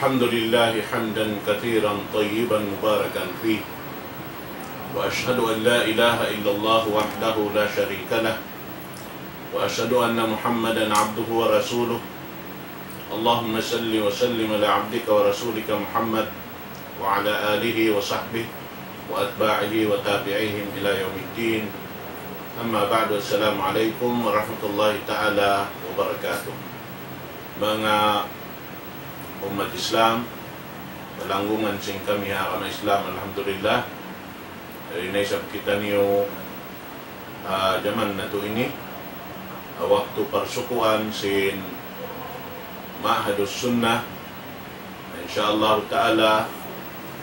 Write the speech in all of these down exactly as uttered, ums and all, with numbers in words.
الحمد لله حمدا كثيرا طيبا مباركا فيه، وأشهد أن لا إله إلا الله وحده لا شريك له، وأشهد أن محمدا عبده ورسوله. اللهم صل وسلم على عبدك ورسولك محمد وعلى آله وصحبه وأتباعه وتابعيهم إلى يوم الدين. أما بعد، السلام عليكم ورحمة الله تعالى وبركاته. Manga ummat Islam, palanggungan sin kami ha agama Islam, alhamdulillah. Yari na isab kitaniyu ha jaman natu' ini, ha waktu parsukuan sin Ma'hadus Sunnah. Insya Allah Ta'ala,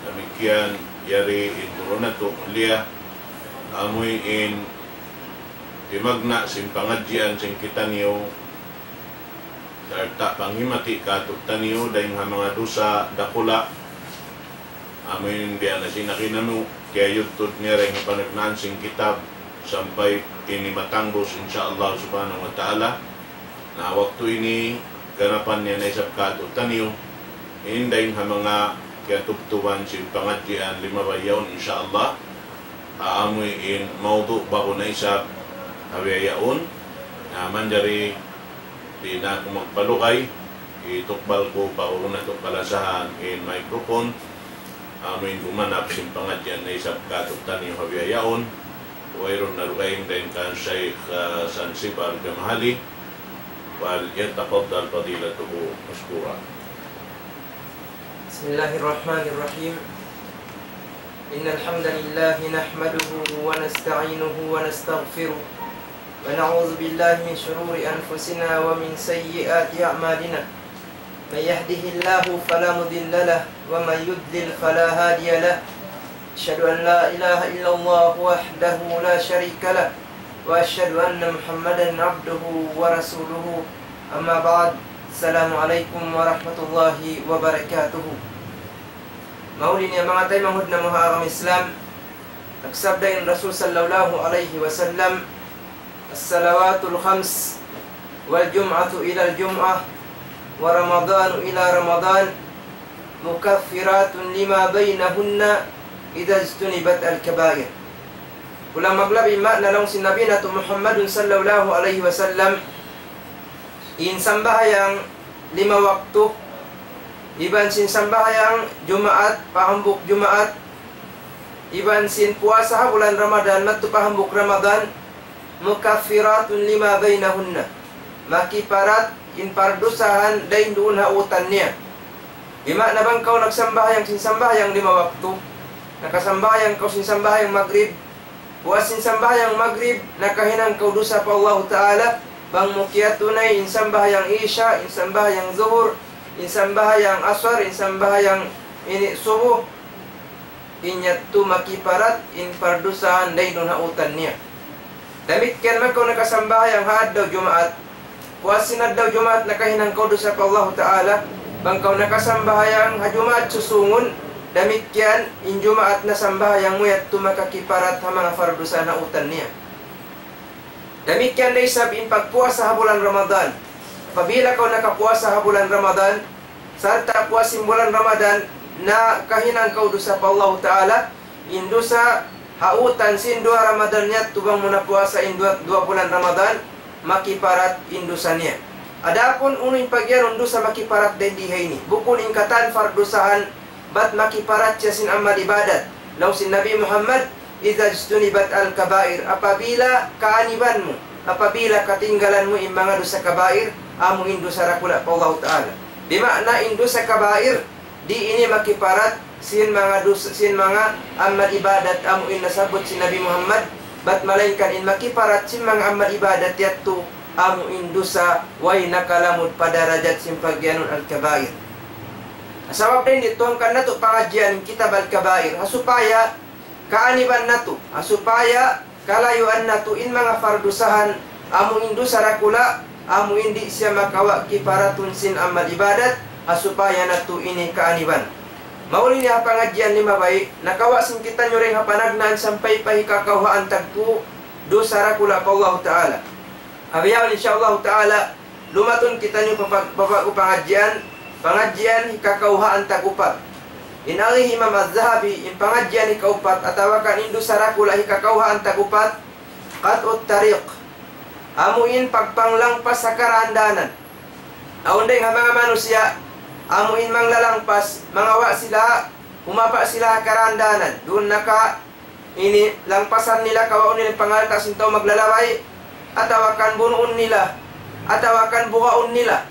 damikkiyan yari in guru natu' mulia, amuin timagna' sin pangadjian sin kitaniyu, sarta' panghimati' kātu'niyu dayn ha manga dusa dakula'. Amuin biya' na sin nakinanu, kiyayudtud niya dayn ha panagnaan sin kitab, sampay ini matangbus, insya Allah subhanahu wa ta'ala. Na waktu ini, ganapan niya na isab kātu'niyu, in dayn ha manga kiyatubtuban sin pangadjian limabay yaun, insya Allah. Amuin mawdu' ba'gu na isab ha bihaun. Na manjari di' na aku magpalugay, itukbal ku pa guru natu' kalasahan in microphone. Amuin gumanap sin pangadjian na isab kātu'niyu ha bihaun. Wayruun na dugaing dayn kan Shaykh, ah, Sansib Al-Jamahali. فليتفضل فضيلته مشكورا. بسم الله الرحمن الرحيم. إن الحمد لله نحمده ونستعينه ونستغفره، ونعوذ بالله من شرور أنفسنا ومن سيئات أعمالنا. من يهده الله فلا مضل له، ومن يضلل فلا هادي له. أشهد أن لا إله إلا الله وحده لا شريك له، وأشهد أن محمدا عبده ورسوله. أما بعد، السلام عليكم ورحمة الله وبركاته. Mahuli niya manga taymanghud namu' ha agama Islam, nagsabda in Rasul sallallahu alayhi wasallam, الصلوات الخمس والجمعة إلى الجمعة ورمضان إلى رمضان مكفرات لما بينهن إذا اجتنبت الكبائر. Kulang maglabi ma'na laung sin Nabi natu' Muhammadun sallallahu alayhi wasallam, in sambahayang lima waktu, iban sin sambahayang Jumaat, pa hambuuk Jumaat, iban sin puasa ha bulan Ramadan, madtu pa hambuuk Ramadan, مكفرات لما بينهن. Makiparat in pardusahan dayn duun ha utan niya. Di' ma'na bang kaw nagsambahayang sin sambahayang lima waktu, nakasambahayang kaw sin sambahayang magrib, puas sin sambahayang magrib, nakahinang kaw dusa pa Allahu Ta'ala, bang mu kiyatunay in sambahayang Isha, in sambahayang Zuhur, in sambahayang Asar, in sambahayang ini Subuh, in yadtu makiparat in pardusahan dayn duun ha utan niya. Damikkiyan bang kaw nakasambahayang ha adlaw Jumaat, puas sin adlaw Jumaat nakahinang kaw dusa pa Allahu Ta'ala, bang kaw nakasambahayang ha Jumaat susungun, damikkiyan in Jumaat na sambahayang mu yadtu makakiparat ha manga pardusahan ha utan niya. Damikkiyan da isab in pagpuasa ha bulan Ramadan. Apabila kaw nakapuasa ha bulan Ramadan, sarta' puas sin bulan Ramadan, nakahinang kaw dusa pa Allahu Ta'ala, in dusa ha utan sin duwa Ramadan niya, tubang mu na puasa in duwa, duwa bulan Ramadan, makiparat in dusa niya. Adapun unu in pagiyanun dusa makiparat dayn di ha ini, bukun in katan pardusahan, bat makiparat siya sin amal ibadat. Laung sin Nabi Muhammad, إذا اجتنبت الكبائر, apabila kaaniban mu, apabila katinggalan mu in manga dusa kabair, amu in dusa dakula' pa Allahu Ta'ala. Di' ma'na in dusa kabair, di' ini makiparat sin manga dusa, sin manga amal ibadat amu in nasabbut sin Nabi Muhammad, bat malaingkan in makiparat sin manga amal ibadat yadtu, amu in dusa way nakalamud pa darajat sin pagiyanun al-kabair. Sabab dayn di tuwan kan natu' pangadjian kitab al-kabair, ha supaya kaaniban natu', ha supaya kalayuan natu' in manga pardusahan, amu in dusa dakula', amu in di' siya makawa' kiparatun sin amal ibadat, ha supaya natu' ini kaaniban. Mahuli niya ha pangadjian limabay, nakawa' sin kitaniyu dayn ha panagnaan sampay pa hikakawhaan tagpu' dusa dakula' pa Allahu Ta'ala. Ha bihaun, insya Allahu Ta'ala, lumatun kitaniyu pa, pa, pa, pa pangadjian, Pangadjian hikakawhaan tag-upat. In agi hi Imam Az-Zahabi, in pangadjian hikaupat, atawa kan in dusa dakula' hikakawhaan tag-upat, qat'ut tariq. Amu in pagpanglangpas ha karandanan. Awn dayn ha manga manusiya', amu in manglalangpas, mangawa' sila, humapa' sila ha karandanan. Duun na ka ini langpasan nila, kawaun nila in pangalta' sin tau maglalabay, atawa kan bunuun nila, atawa kan bugaun nila.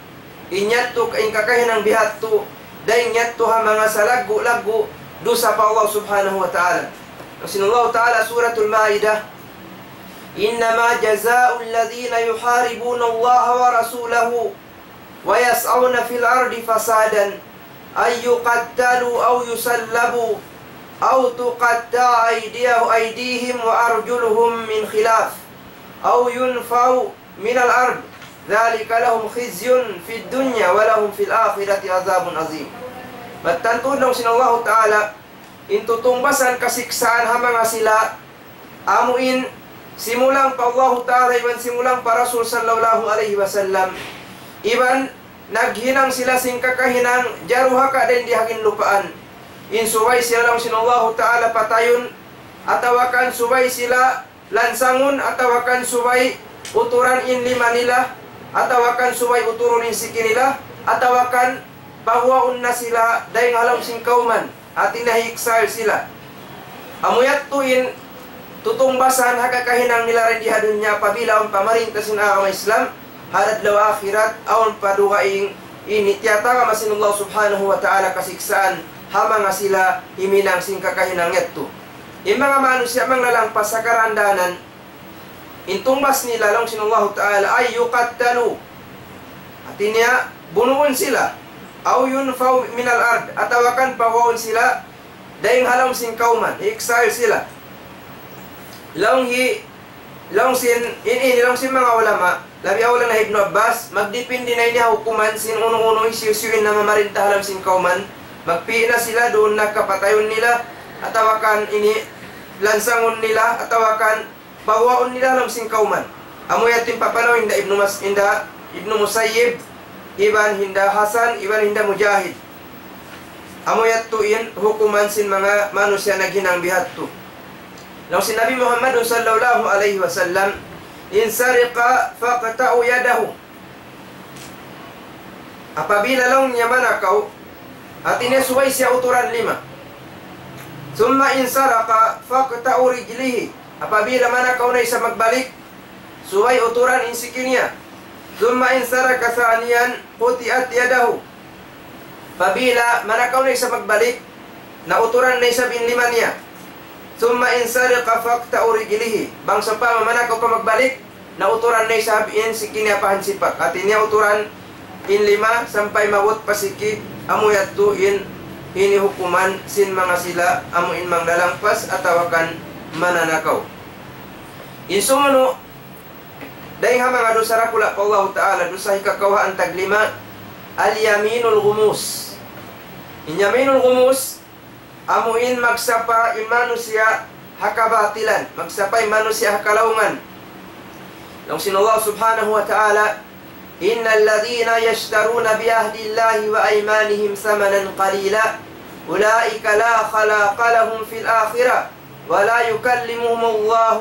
In yadtu in kakahinang bihadtu, dayn yadtu ha manga salaggu'-laggu' dusa pa Allah Subhanahu wa Ta'ala. Laung sin Allah Ta'ala, Suratul Maidah, إنما جزاء الذين يحاربون الله ورسوله ويسعون في الأرض فسادا أن يقتلوا أو يصلبوا أو تقطع أيديه-، أيديهم وأرجلهم من خلاف أو ينفوا من الأرض ذلك لهم خزي في الدنيا ولهم في الآخرة عذاب عظيم. Mattan tuud laung sin Allahu Ta'ala, in tutungbasan kasiksaan ha manga sila, amu in simulang pa Allahu Ta'ala iban simulang pa Rasul sallallahu alayhi wasallam, iban naghinang sila sin kakahinang jaruhaka dayn di ha ginlupaan. In subay sila laung sin Allahu Ta'ala patayun, atawa kan subay sila lansangun, atawa kan subay uturan in lima nila, atawa kan subay uturun in siki nila, atawa kan paguwaun na sila dayn ha lawm sin kawman, hati niya hi-exile sila. Amu yadtu in tutungbasan ha kakahinang nila dayn di ha dunya apabila awn pamarinta sin agama Islam, ha adlaw akhirat awn pa dugaing ini tiyatagama sin Allah Subhanahu wa Ta'ala kasiksaan ha manga sila himinang sin kakahinang yadtu. In manga manusiya' manglalangpas ha karandanan, in tungbas nila laung sin Allahu Ta'ala, أن يقتلوا. Hati niya, bunuun sila. أو ينفوا من الأرض. Atawa kan paguwaun sila dayn ha lawm sin kawman, i-exile sila. Laung hi, laung sin, in, ini, laung sin manga ulama, labi awla na Ibnu Abbas, magdipindi na ini ha hukuman sin unu-unu hisiyu-siyu in namamarinta ha lawm sin kawman, magpī' na sila, duun na ka patayun nila, atawa kan ini lansangun nila, atawa kan paguwaun nila ha lawm sin kawman. Amu yadtu in papanaw hinda Ibnu Mas-, hinda Ibnu Musayyib, iban hinda Hasan, iban hinda Mujahid. Amu yadtu in hukuman sin manga manusiya' naghinang bihadtu. Laung sin Nabi Muhammad sallallahu alayhi wasallam, إن سرق فاقطعوا يده. Apabila laung niya manakaw, hati niya subay siya uturan lima. ثم إن سرق فاقطعوا رجليه. Apabila manakaw na isab magbalik, subay uturan in siki niya. ثم إن سرق ثانيا قطعت يده. Apabila manakaw na isab magbalik, na uturan na isab in lima niya. ثم إن سرق فاقطعوا رجليه. Bang sawpama manakaw pa magbalik, na uturan na isab in siki niya pa hansipak. Hati niya uturan in lima sampay maabut pa siki, amu yadtu in hinihukuman sin manga sila, amu in manglalangpas atawa kan mananakaw. In sumunu', dayn ha manga dusa dakula' pa Allahu Ta'ala, dusa hikakawhaan tag lima, اليمين الغموس. In yaminul ghumus, amu in magsapa in manusiya' ha kabatilan, magsapa in manusiya' ha kalaungan. Laung sin Allah Subhanahu wa Ta'ala, إن الذين يشترون بعهد الله وأيمانهم ثمنا قليلا أولئك لا خلاق لهم في الآخرة ولا يكلمهم الله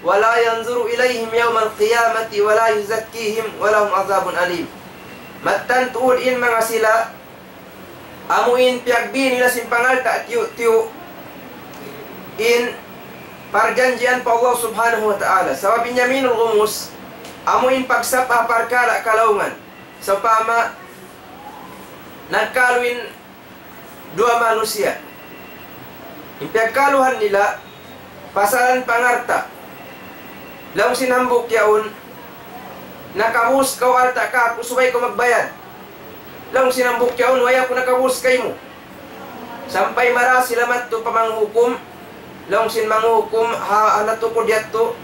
ولا ينظر إليهم يوم القيامة ولا يزكيهم ولهم عذاب أليم. Mattan tuud in manga sila, amu in piyagbi nila sin pangalta' tiyu'-tiyu' in parjanjian pa Allah Subhanahu wa Ta'ala. Sabab in yaminul ghumus, amu in pagsapa ha parkala' kalaungan. Sawpama, nagkalu in duwa manusiya'. In piyagkaluhan nila, pasalan pangalta'. Laung sin hambuuk yaun, "Nakabus kaw alta' kāku', subay kaw magbayad." Laung sin hambuuk yaun, "Way aku nakabus kaymu." Sampay mara sila madtu pa manghukum. Laung sin manghukum, ha, ha natukud yadtu,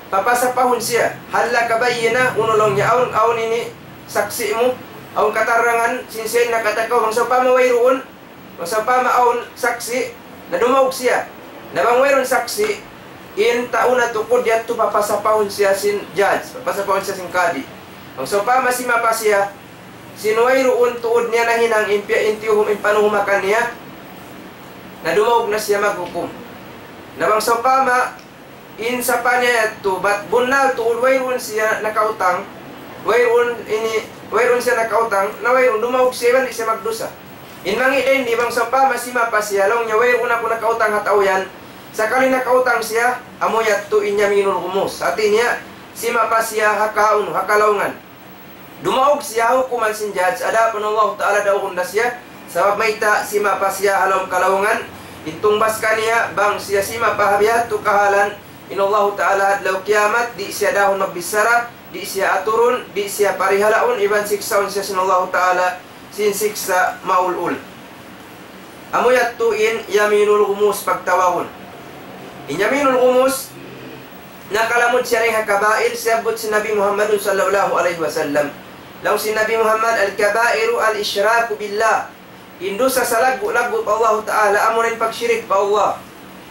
papasapahun siya. "Hal laka bayyina?" Unu laung niya, "Awn, awn ini saksi' mu? Awn katarangan sin siya nakatakaw?" Bang sawpama wayruun, bang sawpama awn saksi', na dumaug siya. Na bang wayruun saksi', in tau natukud yadtu papasapahun siya sin judge, papasapahun siya sin kadi. Bang sawpama simapa siya, sin wayruun tuud niya nahinang in piya-, in tiyuhum, in panuhumakan niya, na dumaug na siya maghukum. Na bang sawpama, in sapa niya yadtu, bat bunnal tuud wayruun siya nakautang, wayruun ini, wayruun siya nakautang, na wayruun, dumaug siya iban di' siya magdusa. In mangi' dayn di bang sawpama simapa siya, laung niya, wayruun aku nakautang ha tau yan. Sakali nakautang siya, amu yadtu in yaminul ghumus. Hati niya, simapa siya ha kaun, ha kalaungan. Dumaug siya ha hukuman sin judge, adapun Allah Ta'ala daugun da siya, sabab mayta', simapa siya ha lawm kalaungan, in tungbas kaniya, bang siya simapa ha biya' hādtu kahalan, in Allah Ta'ala adlaw kiyamat, di' siya dahun magbichara, di' siya aturun, di' siya parihalaun, iban siksaun siya sin Allah Ta'ala, sin siksa' maulul. Amu yadtu in yaminul ghumus pagtawagun. In yaminul ghumus, nakalamud siya dayn ha kabair, siyabbut sin Nabi Muhammadun sallallahu alayhi wasallam. Laung sin Nabi Muhammad, الكبائر الإشراك بالله. In dusa salaggu'-laggu' pa Allah Ta'ala, amuna in pagshirik pa Allah.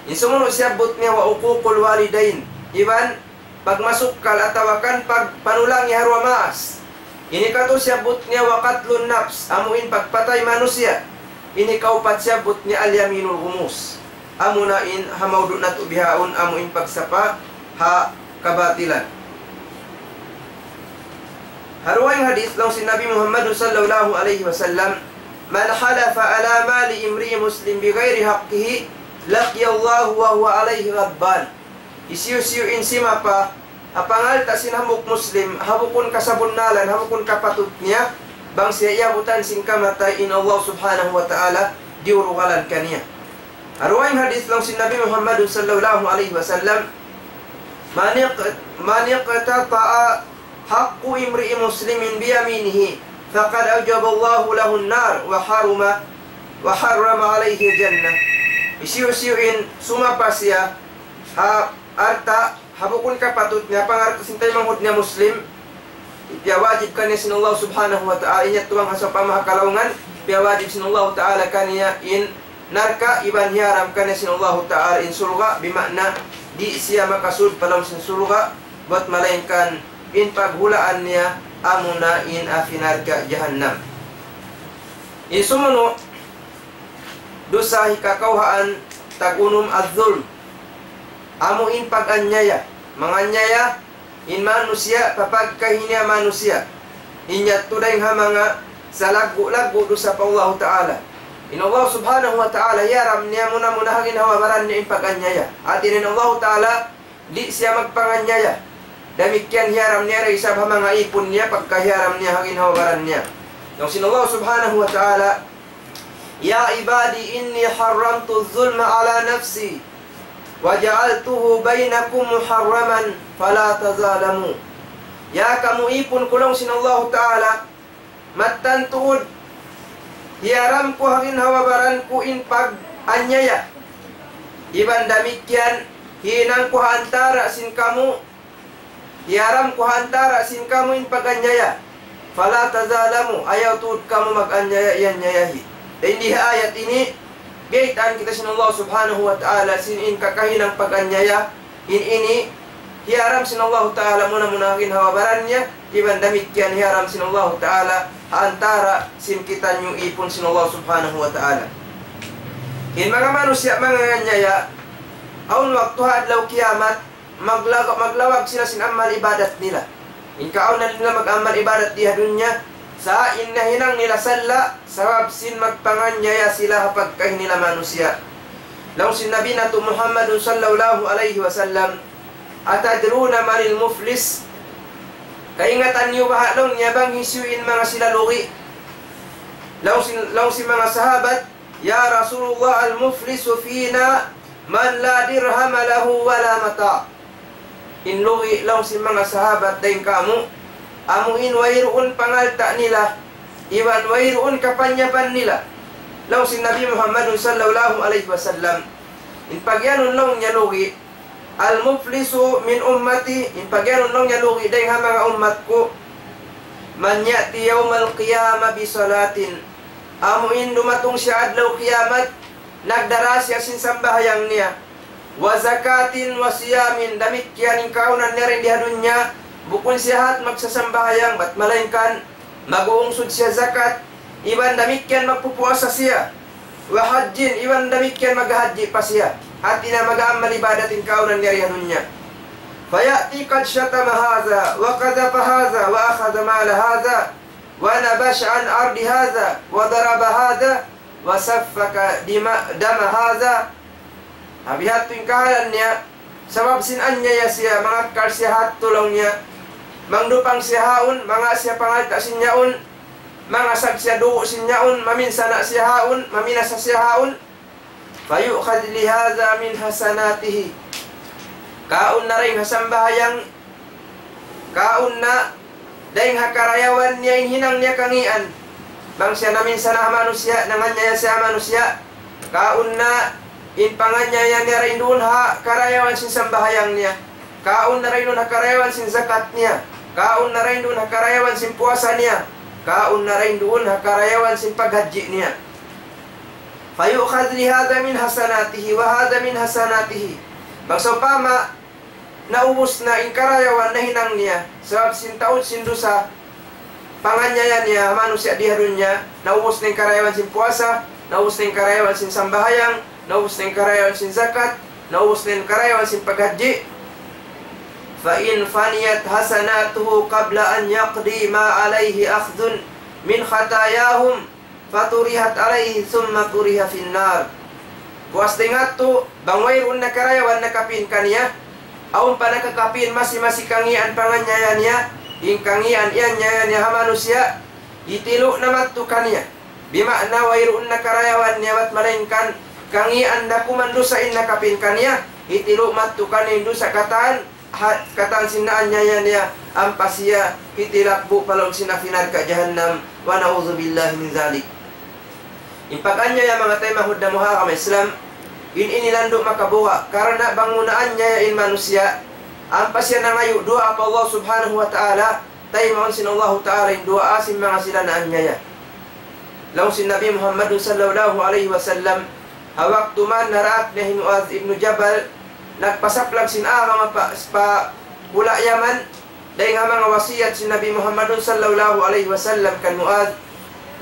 In sumunu' siyabbut niya, وعقوق الوالدين. Iban pagmasukkal atawa kan pagpanulangi ha duwa maas. Ini katu siyabbut niya وقتل النفس, amu in pagpatay manusiya'. Ini kaupat siyabbut niya اليمين الغموس. Amuna in ha maudu' natu' bihaun, amu in pagsapa ha kabatilan. Ha dugaing hadith laung sin Nabi Muhammad sallallahu alayhi wasallam, من حلف على مال امرئ مسلم بغير حقه لقي الله وهو عليه غضبان. Hisiyu-siyu in simapa ha pangalta' sin hambuuk Muslim, ha bukun kasabunnalan, ha bukun kapatut niya, bang siya iyabutan sin kamatay, in Allah Subhanahu wa Ta'ala diyurugalan kaniya. Ha dugaing hadith laung sin Nabi Muhammad sallallahu alayhi wasallam, من اق-، من اقتطع حق امرئ مسلم بيمينه فقد أوجب الله له النار وحرم، وحرم عليه الجنة. Hisiyu-siyu in sumapa siya ha alta' ha bukun kapatut niya, pangalta' sin taymanghud niya Muslim, piyawajib kaniya sin Allah Subhanahu wa Ta'ala, in yadtu bang ha sawpama ha kalaungan, piyawajib sin Allah Ta'ala kaniya in narka', iban hiyaram kaniya sin Allah Ta'ala in surga', bima'na di' siya makasud pa lawm sin surga', bat malaingkan in paghulaan niya amuna in api narka' jahannam. In sumunu' dusa hikakawhaan tag-unum az-zulm. Amu in pag-anyaya. Manganyaya in manusiya' pa pagkahi niya manusiya'. In yadtu dayn ha manga salaggu'-laggu' dusa pa Allahu Ta'ala. In Allah Subhanahu wa Ta'ala hiyaram niya muna-muna ha ginhawa-baran niya in pag-anyaya. Hati niya in Allahu Ta'ala di' siya magpanganyaya. Damikkiyan hiyaram niya da isab ha manga ipun niya pagka hiyaram niya ha ginhawa-baran niya. Laung sin Allah Subhanahu wa Ta'ala, يا عبادي إني حرمت الظلم على نفسي وجعلته بينكم محرما فلا تظالموا. Ya kamu ipun ku, laung sin Allahu Ta'ala, mattan tuud hiyaram ku ha ginhawa-baran ku in pag-anyaya. Iban damikkiyan, hinang ku ha antara' sin kamu, hiyaram ku ha antara' sin kamu in pag-anyaya. فلا تظالموا, ayaw tuud kamu mag-anyaya, iyanyayahi. Dayn di ha ayat ini, biyaytaan kita sin Allah Subhanahu wa Ta'ala sin in kakahinang pag-anyaya, in ini, hiyaram sin Allahu Ta'ala muna-muna ha ginhawa-baran niya, iban damikkiyan hiyaram sin Allahu Ta'ala ha antara' sin kitaniyu ipun sin Allah Subhanahu wa Ta'ala. In manga manusiya' manganyaya, awn waktu ha adlaw kiyamat, maglag-, maglawag sila sin amal ibadat nila. In kaawnan nila mag-amal ibadat di ha dunya, sa' in nahinang nila salla', sabab sin magpanganyaya sila ha pagkahi nila manusiya'. Laung sin Nabi natu' Muhammadun sallallahu alayhi wasallam, أتدرون من المفلس؟ Kaingatan niyu baha', laung niya, bang hisiyu in manga sila lugi'? Laung sin, laung sin manga sahabat, يا رسول الله، المفلس فينا من لا درهم له ولا متاع. In lugi', laung sin manga sahabat, dayn kāmu', amu in wayruun pangalta' nila, iban wayruun kapanyapan nila. Laung sin Nabi Muhammadun sallallahu alayhi wasallam, in pagiyanun laung niya lugi', المفلس من أمتي, in pagiyanun laung niya lugi' dayn ha manga ummat ku, من يأتي يوم القيامة بصلاة, amu in dumatung siya adlaw kiyamat, nagdara siya sin sambahayang niya, وزكاة وصيام, damikkiyan in kaawnan niya dayn di ha dunya, bukun siya hat magsasambahayang, bat malaingkan Mag-uungsud siya zakat, iban damikkiyan magpupuasa siya. Wa hajjin, iban damikkiyan maghajji pa siya. Hati niya mag-amal ibadat in kaunan niya di ha dunya. فيأتي قد شتم هذا وقذف هذا وأخذ مال هذا ونبش عن عرض هذا وضرب هذا وسفك دم هذا. Biha' tuud in kahalan niya, sabab sin anyaya siya, mangakkal siya ha tulung niya, mangdupang siya ha yaun, manga siya pangalta' sin yaun, mangasag siya dugu' sin yaun, maminsana' siya ha yaun, maminasa siya ha yaun. فيؤخذ لهذا من حسناته. Kaun na dayn ha sambahayang, kaun na dayn ha karayawan niya in hinang niya kangīan. Bang siya naminsana' ha manusiya', nanganyaya siya ha manusiya', kaun na in panganyaya niya dayn duun ha karayawan sin sambahayang niya. Kaun na dayn duun ha karayawan sin zakat niya. Kaun na dayn duun ha karayawan sin puasa niya. Kaun na dayn duun ha karayawan sin paghajji niya. فيؤخذ لهذا من حسناته وهذا من حسناته. Bang sawpama naubus na in karayawan nahinang niya, sabab sin taud sin dusa, panganyaya niya ha manusiya' di ha dunya, naubus na in karayawan sin puasa, naubus na in karayawan sin sambahayang, naubus na in karayawan sin zakat, naubus na in karayawan sin paghajji. فإن فنيت حسناته قبل أن يقضي ما عليه أخذ من خطاياهم فطرحت عليه ثم طرح في النار. Puas dayn ha yadtu, bang wayruun na karayawan nakapin kaniya, awn pa nakakapin masi-masi kangīan panganyaya niya, in kangīan iyanyaya niya ha manusiya', hitilu' na madtu kaniya. Bima'na wayruun na karayawan niya bat malaingkan kangīan da kuman dusa in nakapin kaniya, hitilu' madtu kaniya in dusa katan, ha, katan sin naanyaya niya, ampa siya hitilakbu' pa lawm sin api narka' jahannam, ونعوذ بالله من ذلك. In pag-anyaya manga taymanghud namu' ha agama Islam, in ini landu' makabuga', karna' bang mu naanyaya in manusiya', ampa siya nangayu' duwaa pa Allah Subhanahu wa Ta'ala, taymaun sin Allahu Ta'ala in duwaa sin manga sila naanyaya. Laung sin Nabi Muhammad sallallahu alayhi wasallam, ha waktu man naraak niya hi Muadh ibn Jabal, nagpasaplag sin agama pa, pa hula' Yaman, dayn ha manga wasiyat sin Nabi Muhammad sallallahu alayhi wasallam kan Muadh,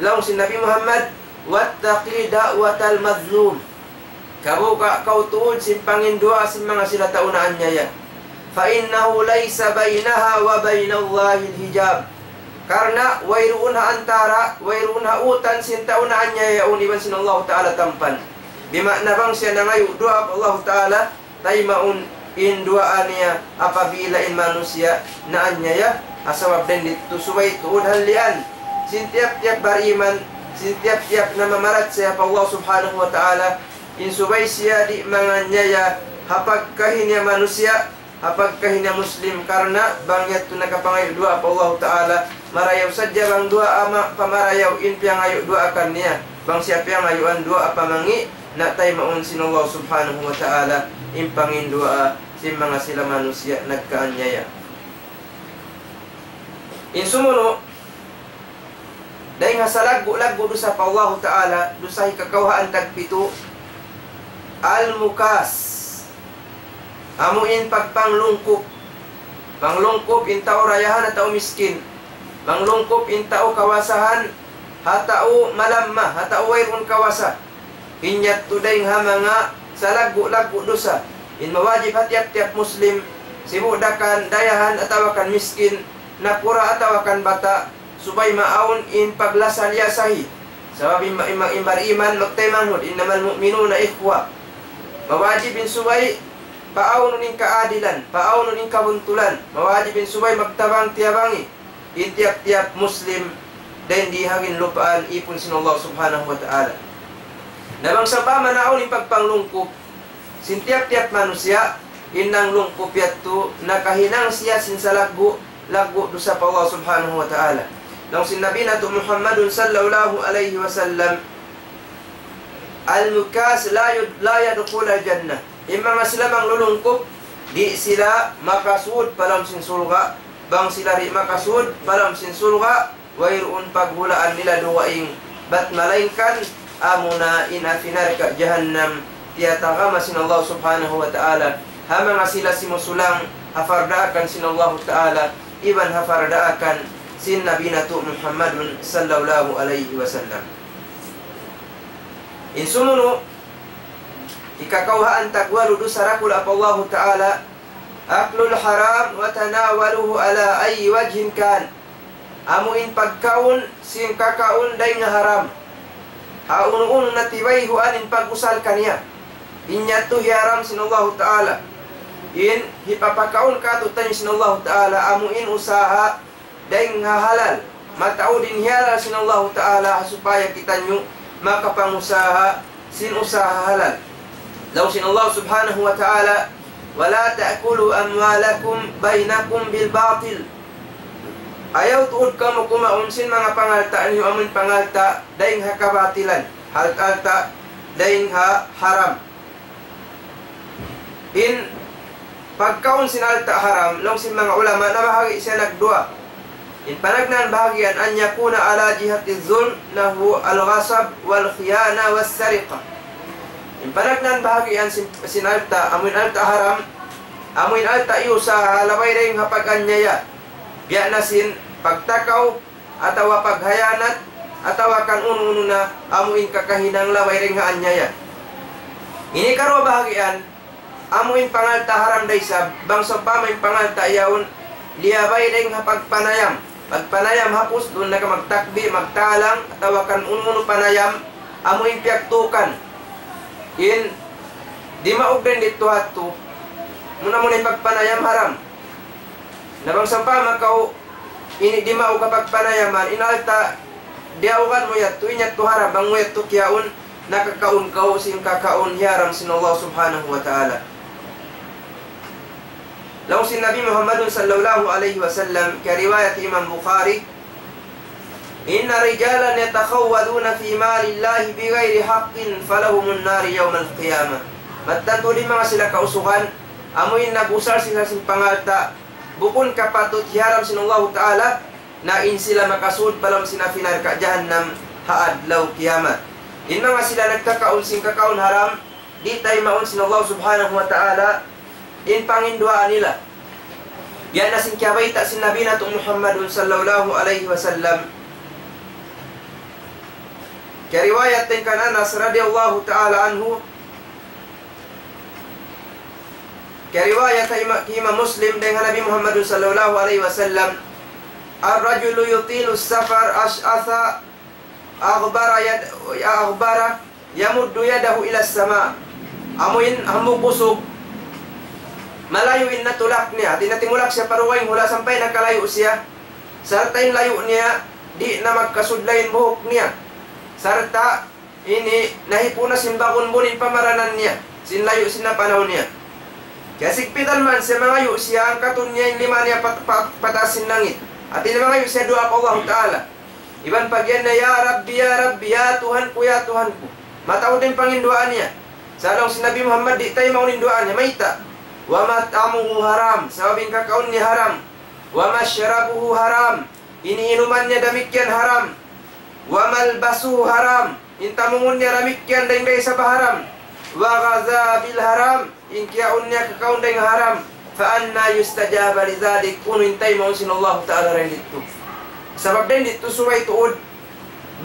laung sin Nabi Muhammad, واتق دعوة المظلوم. Kabuga' kaw tuud sin panginduwaa sin manga sila tau naanyaya. فإنه ليس بينها وبين الله حجاب. Karna' wayruun ha antara', wayruun ha utan sin tau naanyaya yaun iban sin Allahu Ta'ala tampan. Bima'na bang siya nangayu' duwaa pa Allahu Ta'ala, taymaun in duwaa niya apabila in manusiya' naanyaya, ha sabab dayn didtu subay tuud halian sin tiyap-tiyap bariman, sin tiyap-tiyap namamarachaya pa Allah Subhanahu wa Ta'ala, in subay siya di' manganyaya ha pagkahi niya manusiya', ha pagkahi niya Muslim, karna' bang yadtu nakapangayu' duwaa pa Allahu Ta'ala, marayaw sadja bang duwaa ma-, pamarayaw in piyangayu' duwaa kaniya, bang siya piyangayuan duwaa pamangi', na taymaun sin Allah Subhanahu wa Ta'ala in panginduwaa sin manga sila manusiya' nagkaanyaya. In sumunu', dayn ha salaggu'-laggu' dusa pa Allahu Ta'ala, dusa hikakawhaan tagpitu, al-mukas. Amu in pagpanglungkup. Panglungkup in tau dayahan ha tau miskin. Panglungkup in tau kawasahan ha tau malamma, ha tau wayruun kawasa. In yadtu dayn ha manga salaggu'-laggu' dusa. In mawajib ha tiyap-tiyap Muslim, sibu' da kan dayahan atawa kan miskin, nakura' atawa kan bata', subay maawn in paglasa-liyasahi. Sabab in, in, in bariman magtaymanghud, إنما المؤمنون إخوة. Mawajib in subay paawnun in kaadilan, paawnun in kabuntulan. Mawajib in subay magtabang-tiyabangi in tiyap-tiyap Muslim dayn di ha ginlupaan ipun sin Allah Subhanahu wa Ta'ala. Na bang sawpama naawn in pagpanglungkup sin tiyap-tiyap manusiya', in nanglungkup yadtu nakahinang siya sin salaggu'-laggu' dusa pa Allah Subhanahu wa Ta'ala. Laung sin Nabi natu' Muhammadun sallallahu alayhi wasallam, المكاس لا يد-، لا يدخل الجنة. In manga sila manglulungkup, di' sila makasud pa lawm sin surga'. Bang sila di' makasud pa lawm sin surga', wayruun paghulaan nila dugaing, bat malaingkan amuna in api narka' jahannam, tiyatagama sin Allah Subhanahu wa Ta'ala ha manga sila simusulang ha pardaakan sin Allah Ta'ala, iban ha pardaakan sin Nabi natu' Muhammadun sallallahu alayhi wasallam. In sumunu', hikakawhaan tagwalu dusa dakula' pa Allahu Ta'ala, أكل الحرام وتناوله على أي وجه كان. Amu in pagkaun sin kakaun dayn ha haram. Ha unu-unu na tibayhuan in pag-usal kaniya. In yadtu hiyaram sin Allahu Ta'ala. In hipapakaun kātu'niyu sin Allahu Ta'ala, amu in usaha dayn ha halal. Mataud in hihalal sin Allahu Ta'ala supaya kitaniyu makapangusaha sin usaha halal. Laung sin Allah Subhanahu wa Ta'ala, ولا تأكلوا أموالكم بينكم بالباطل. Ayaw tuud kamu kumaun sin manga pangalta' niyu amun pangalta' dayn ha kabatilan, alta'-alta' dayn ha haram. In pagkaun sin alta' haram, laung sin manga ulama, nabahagi' siya nagduwa. In panagnaan bahagian, أن يكون على جهة الظلم نحو الغصب والخيانة والسرقة. In panagnaan bahagian sin, sin alta', amu in alta' haram, amu in alta' iyusaha ha labay dayn ha pag-anyaya. Biya' na sin pagtakaw, atawa paghayanat, atawa kan unu-unu na amu in kakahinang labay dayn ha anyaya. Ini karuwa bahagian, amu in pangalta' haram da isab, bang sawpama in pangalta' yaun, liyabay dayn ha pagpanayam. Pagpanayam ha pusdun, naka magtakbi, magtalang, atawa kan unu-unu panayam, amu in piyagtukan. In, dimaug dayn didtu hadtu, muna-muna in pagpanayam haram. Na bang sawpama kaw, ini dimaug ha pagpanayaman, in alta', diyaugan mu yadtu, in yadtu haram, bang mu yadtu kiyaun, nakakaun kaw sin kakaun hiyaram sin Allah Subhanahu wa Ta'ala. Laung sin Nabi Muhammadun sallallahu alayhi wasallam, kiyariwayat Imam Bukhari, إن رجالا يتخوضون في مال الله بغير حق فلهم النار يوم القيامة. Mattan tuud in manga sila kausugan, amu in nag-usal sila sin pangalta', bukun kapatut hiyaram sin Allahu Ta'ala, na in sila makasud pa lawm sin api narka' jahannam ha adlaw kiyamat. In manga sila nagkakaun sin kakaun haram, di' taymaun sin Allah Subhanahu wa Ta'ala in panginduwaa nila. Yan na sin kiyabayta' sin Nabi natu' Muhammadun sallallahu alayhi wasallam. Kiyariwayat dayn kan Anas radiyallahu ta'ala anhu, kiyariwayat ha Ima-, Imam Muslim dayn ha Nabi Muhammadun sallallahu alayhi wasallam, الرجل يطيل السفر أشعث أغبر يد-، أغبر يمد يده إلى السماء. Amu in hambuuk usug, malayu' in natulak niya. Hati niya timulak siya pa dugaing hula' sampay nakalayu' siya. Sarta' in layu' niya, di' na magkasudlay in buhuk niya. Sarta' ini nahipu' na sin bagunbun in pamaranan niya, sin layu' sin napanaw niya. Kiyasigpitan man siya, mangayu' siya, angkatun niya in lima niya pat-, pat-, pataas sin langit. Hati niya mangayu' siya duwaa pa Allahu Ta'ala. Iban pag-iyan niya, "Ya Rabbi, ya Rabbi, ya Tuhan ku, ya Tuhan ku." Mataud in panginduwaa niya. Sa' laung sin Nabi Muhammad, di' taymaun in duwaa niya, mayta'? ومطعمه حرام, sabab in kakaun niya haram. ومشربه حرام, in inuman niya damikkiyan haram. وملبسه حرام, in tamungun niya damikkiyan dayn da isab ha haram. وغذا بالحرام, in kiyaun niya kakaun dayn ha haram. فأنى يستجاب لذلك, unu in taymaun sin Allahu Ta'ala dayn didtu? Sabab dayn didtu subay tuud,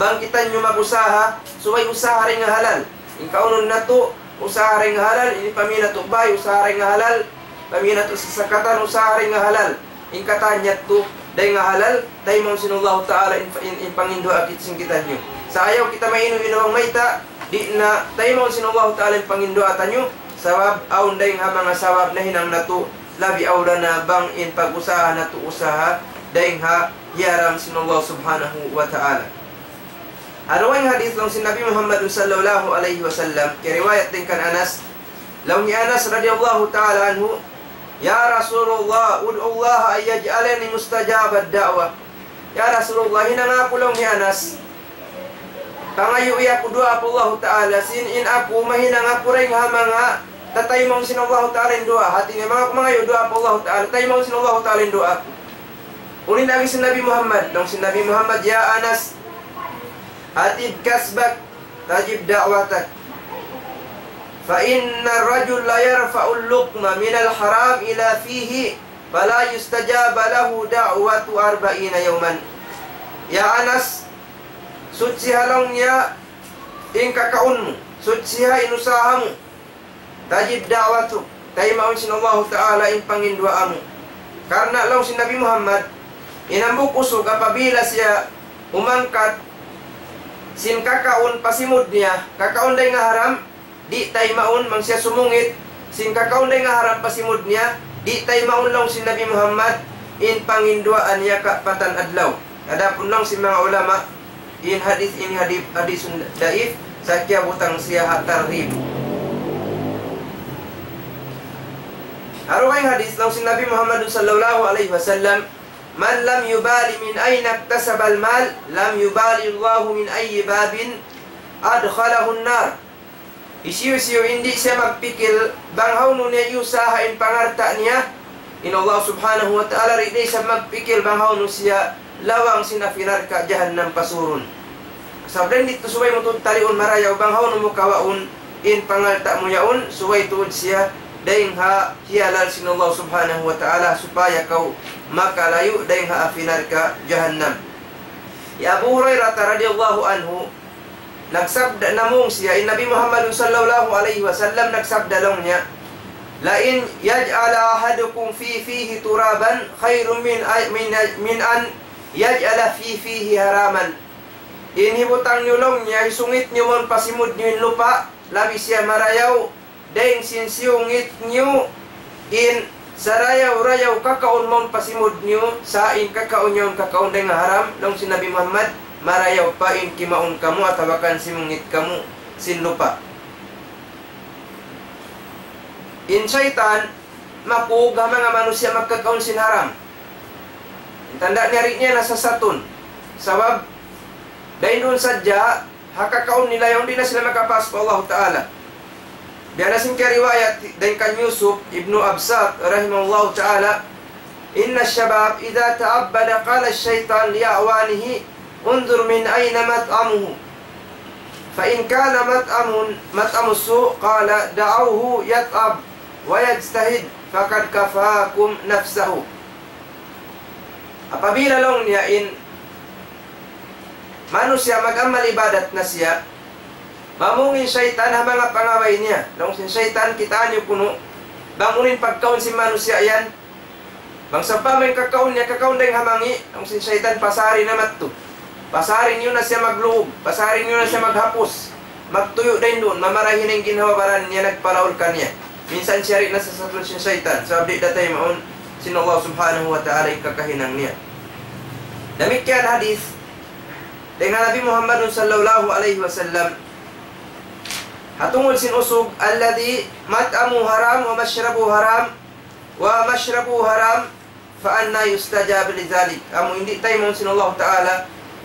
bang kitaniyu mag-usaha, subay usaha dayn ha halal. In kaunun natu', usaha dayn ha halal, in pamī natu' bāy, usaha dayn ha halal, pamī natu' sasakatan, usaha dayn ha halal. In katan yadtu, dayn ha halal, taymaun sin Allahu Ta'ala in, in, in panginduwaa kit-, sin kitaniyu. Sa' ayaw kita mainu-inu bang mayta', di' na taymaun sin Allahu Ta'ala in panginduwaa taniyu, sabab awn dayn ha manga sabab nahinang natu', labi awla na bang in pag-usaha natu' usaha dayn ha hiyaram sin Allah Subhanahu wa Ta'ala. Ha dugaing hadith laung sin Nabi Muhammad sallallahu alayhi wasallam, kiyariwayat dayn kan Anas, laung hi Anas radiyallahu ta'ala anhu, يا رسول الله، ادع الله أن يجعلني مستجاب الدعوة. Ya Rasulullah, hinanga aku laung hi Anas, pangayui aku duwaa pa Allahu Ta'ala, sin in aku mahinang aku dayn ha manga tataymaun sin Allahu Ta'ala in duwaa. Hati niya, manga aku mangayu' duwaa pa Allahu Ta'ala, taymaun sin Allahu Ta'ala in duwaa aku. Unu in agi sin Nabi Muhammad? Laung sin Nabi Muhammad, يا أنس، أطب كسبك تجب دعوتك. فإن الرجل ليرفع اللقمة من الحرام إلى فيه فلا يستجاب له دعوة أربعين يوما. Ya Anas, suchiha laung niya in kakaun mu, suchiha in usaha mu. تستجب دعوته, taymaun sin Allahu Ta'ala in panginduwaa mu. Karna' laung sin Nabi Muhammad, in hambuuk usug apabila siya umangkat sin kakaun pa simud niya, kakaun dayn ha haram, di' taymaun, bang siya sumungit sin kakaun dayn ha haram pa simud niya, di' taymaun laung sin Nabi Muhammad in panginduwaa niya kaapatan adlaw. Adapun laung sin manga ulama, in hadith ini hadith, hadith daif, sa' kiyabutang siya ha targhib. Ha dugaing hadith laung sin Nabi Muhammad sallallahu alayhi wasallam, من لم يبال من أين اكتسب المال لم يبال الله من أي باب أدخله النار. Hisiyu-siyu in di' siya magpikil bang hawnu niya iyusaha in pangalta' niya, in Allah Subhanahu wa Ta'ala di' siya magpikil bang hawnu siya lawang sin api narka' jahannam pasurun. Sabab dayn didtu subay mu tuud taliun marayaw bang hawnu mu kawaun in pangalta' mu yaun, subay tuud siya dayn ha hiyalal sin Allah Subhanahu wa Ta'ala supaya kaw makalayu' dayn ha api narka' jahannam. Hi Abu Hurairah radiyallahu anhu, nagsabda, namung siya, in Nabi Muhammad sallallahu alayhi wasallam nagsabda laung niya, لأن يجعل أحدكم في فيه ترابا خير من، من، من أن يجعل في فيه حراما. In hibutang niyu laung niya, hisungit niyu mawn pa simud niyu in lupa', labi siya marayaw, dayn sin siyungit niyu in sarayaw-rayaw kakaun mawn pa simud niyu, sa' in kakaun yaun kakaun dayn ha haram, laung sin Nabi Muhammad, marayaw pa in kimaun kamu atawa kan simungit kamu sin lupa'. In saytan, makug ha manga manusiya' magkakaun sin haram. In tanda' niya di' niya nasasatun. Sabab, dayn duun sadja, ha kakaun nila yaun di' na sila makapas pa Allah Ta'ala. Biya' na sin kiyariwayat dayn kan Yusuf ibnu Absat rahimahullahu ta'ala, إن الشباب إذا تعبد قال الشيطان لأعوانه انظر من أين مطعمه، فإن كان مطعم، مطعم السوء قال دعوه يتعب ويجتهد فقد كفاكم نفسه. Apabila laung niya in manusiya' mag-amal ibadat na siya, mamung in saytan ha manga pangabay niya. Laung sin saytan, kitaa niyu kunu', bang unu in pagkaun sin manusiya' yan. Bang sawpama in kakaun niya, kakaun dayn ha mangi', laung sin saytan, pasari na madtu. Pasari niyu na siya magluug, pasari niyu na siya maghapus. Magtuyu' dayn duun, mamarahi na in ginhawa-baran niya nagpalaul kaniya. Minsan siya di' nasasatun sin saytan, sabab di' da taymaun sin Allah Subhanahu wa Ta'ala in kakahinang niya. Damikkiyan hadith dayn ha Nabi Muhammadun sallallahu alayhi wasallam, ha tungud sin usug, الذي مطعمه حرام ومشربه حرام ومشربه حرام فأنى يستجاب لذلك. Amu in di' taymaun sin Allah Ta'ala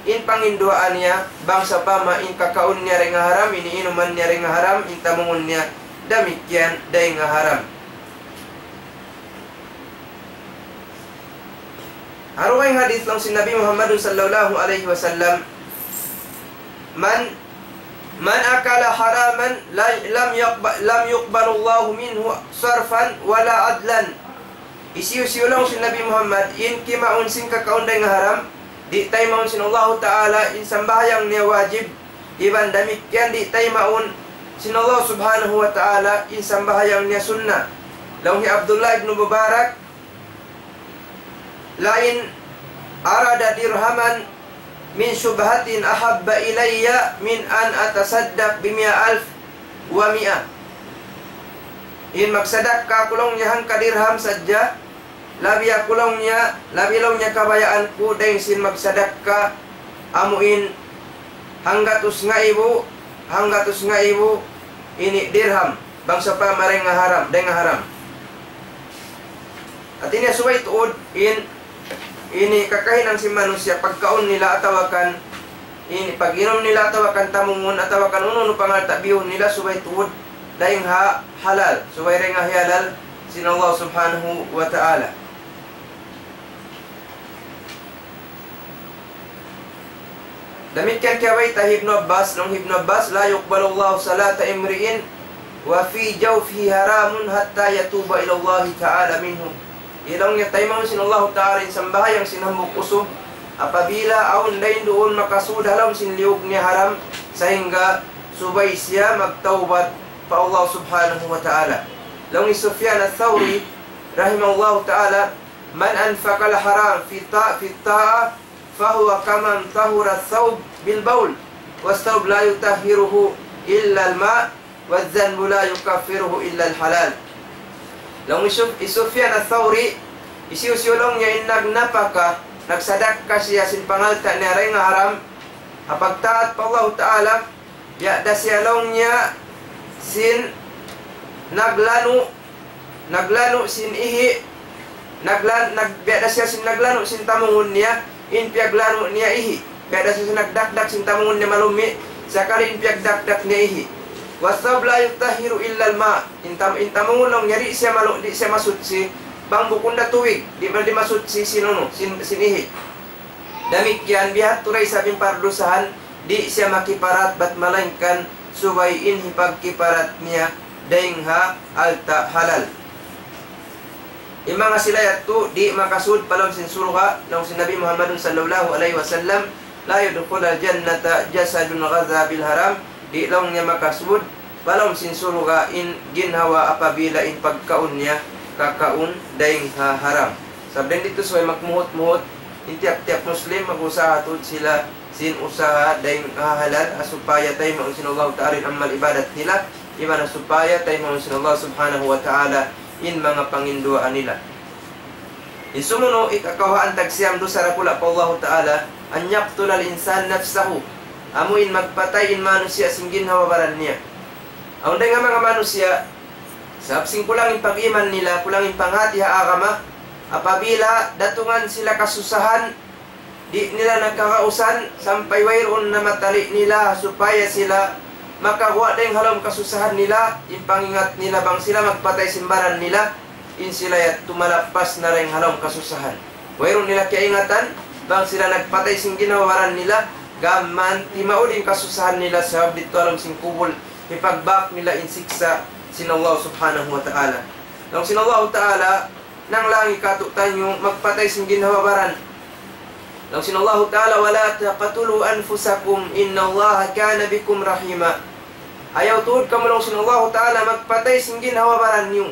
in panginduwaa niya, bang sawpama in kakaun niya dayn ha haram, in inuman niya dayn ha haram, in tamungun niya damikkiyan dayn ha haram. Ha dugaing hadith laung sin Nabi Muhammadun sallallahu alayhi wasallam, من، من أكل حراما لا، لم يقب-، لم يقبل الله منه صرفا ولا عدلا. Hisiyu-siyu laung sin Nabi Muhammad, in kimaun sin kakaun dayn ha haram, di' taymaun sin Allahu Ta'ala in sambahayang niya wajib, iban damikkiyan di' taymaun sin Allah Subhanahu wa Ta'ala in sambahayang niya sunna. Laung hi Abdullah ibn Mubarak, لئن أرد درهما من شبهة أحب إلي من أن أتصدق بمائة ألف ومائة. In magsadakka aku laung niya hangka dirham sadja, labi aku laung niya, labi laung niya kabayaan ku dayn sin magsadakka amu in hanggatus ngaibu, hanggatus ngaibu ini dirham, bang sawpama dayn ha haram, dayn ha haram. Hati niya subay tuud in, ini kakahinang sin manusiya' pagkaun nila atawa kan ini pag-inum nila atawa kan tamungun atawa kan unu-unu pangalta' biyun nila subay tuud dayn ha halal, subay dayn ha hiyalal sin Allah Subhanahu wa Ta'ala. Damikkiyan kiyabayta' hi Ibnu Abbas, laung hi Ibnu Abbas, لا يقبل الله صلاة امرئ وفي جوفه حرام حتى يتوب إلى الله تعالى منه. Di' laung niya taymaun sin Allahu Ta'ala in sambahayang sin hambuuk usug, apabila awn dayn duun makasud ha lawm sin liyug niya haram, sahingga subay siya magtawbat pa Allah Subhanahu wa Ta'ala. Laung hi Sufyan Ath-Thawri, rahimahullahu ta'ala, من أنفق الحرام في الطاعة، في الطاعة، فهو كمن طهر الثوب بالبول، والثوب لا يطهره إلا الماء، والذنب لا يكفره إلا الحلال. Laung hi Suf-, hi Sufyan Ath-Thawri, hisiyu-siyu laung niya in nagnapaka, nagsadakka siya sin pangalta' niya dayn ha haram, ha pagtaat pa Allahu Ta'ala, biya' da siya laung niya sin naglanu', naglanu' sin ihi', naglan-, nag-, biya' da siya sin naglanu' sin tamungun niya, in piyaglanu' niya ihi'. Biya' da siya sin nagdakdak sin tamungun niya malummi', sakali in piyagdakdak niya ihi'. والثوب لا يطهره إلا الماء. In tam-, in tamungun laung niya di' siya malu-, di' siya masuchi, bang bukun da tubig, di' ma-, di' masuchi sin unu, sin, sin ihi'. Damikkiyan biya' ha yadtu da isab in pardusahan, di' siya makiparat bat malaingkan subay in hipagkiparat niya dayn ha alta' halal. In manga sila yadtu di' makasud pa lawm sin surga', laung sin Nabi Muhammadun sallallahu alayhi wasallam, لا يدخل الجنة جسد غذي بالحرام, di' laung niya makasud pa lawm sin surga' in ginhawa apabila in pagkaun niya kakaun dayn ha haram. Sabab dayn didtu subay magmuhut-muhut in tiyap-tiyap Muslim, mag-usaha tuud sila sin usaha dayn ha halal, ha supaya taymaun sin Allahu Ta'ala in amal ibadat nila, iban ha supaya taymaun sin Allah Subhanahu wa Ta'ala in manga panginduwaa nila. In sumunu', hikakawhaan tagsiyam dusa dakula' pa Allahu Ta'ala, أن يقتل الإنسان نفسه, amu in magpatay in manusiya' sin ginhawa-baran niya. Awn dayn ha manga manusiya', sabab sin kulang in pag-iman nila, kulang in panghati ha agama, apabila datungan sila kasusahan, di' nila na kagausan sampay wayruun na matali' nila supaya sila makaguwa' dayn ha lawm kasusahan nila, in pangingat nila bang sila magpatay sin baran nila, in sila yadtu malappas na dayn ha lawm kasusahan. Wayruun nila kiyaingatan, bang sila nagpatay sin ginhawa-baran nila, gam man timaud in kasusahan nila sabab didtu ha lawm sin kubul, hipagbak nila in siksa' sin Allah Subhanahu wa Ta'ala. Laung sin Allah Ta'ala, nanglangi kātu'niyu magpatay sin ginhawa-baran. Laung sin Allahu Ta'ala, ولا تقتلوا أنفسكم إن الله كان بكم رحيما. Ayaw tuud kamu, laung sin Allahu Ta'ala, magpatay sin ginhawa-baran niyu.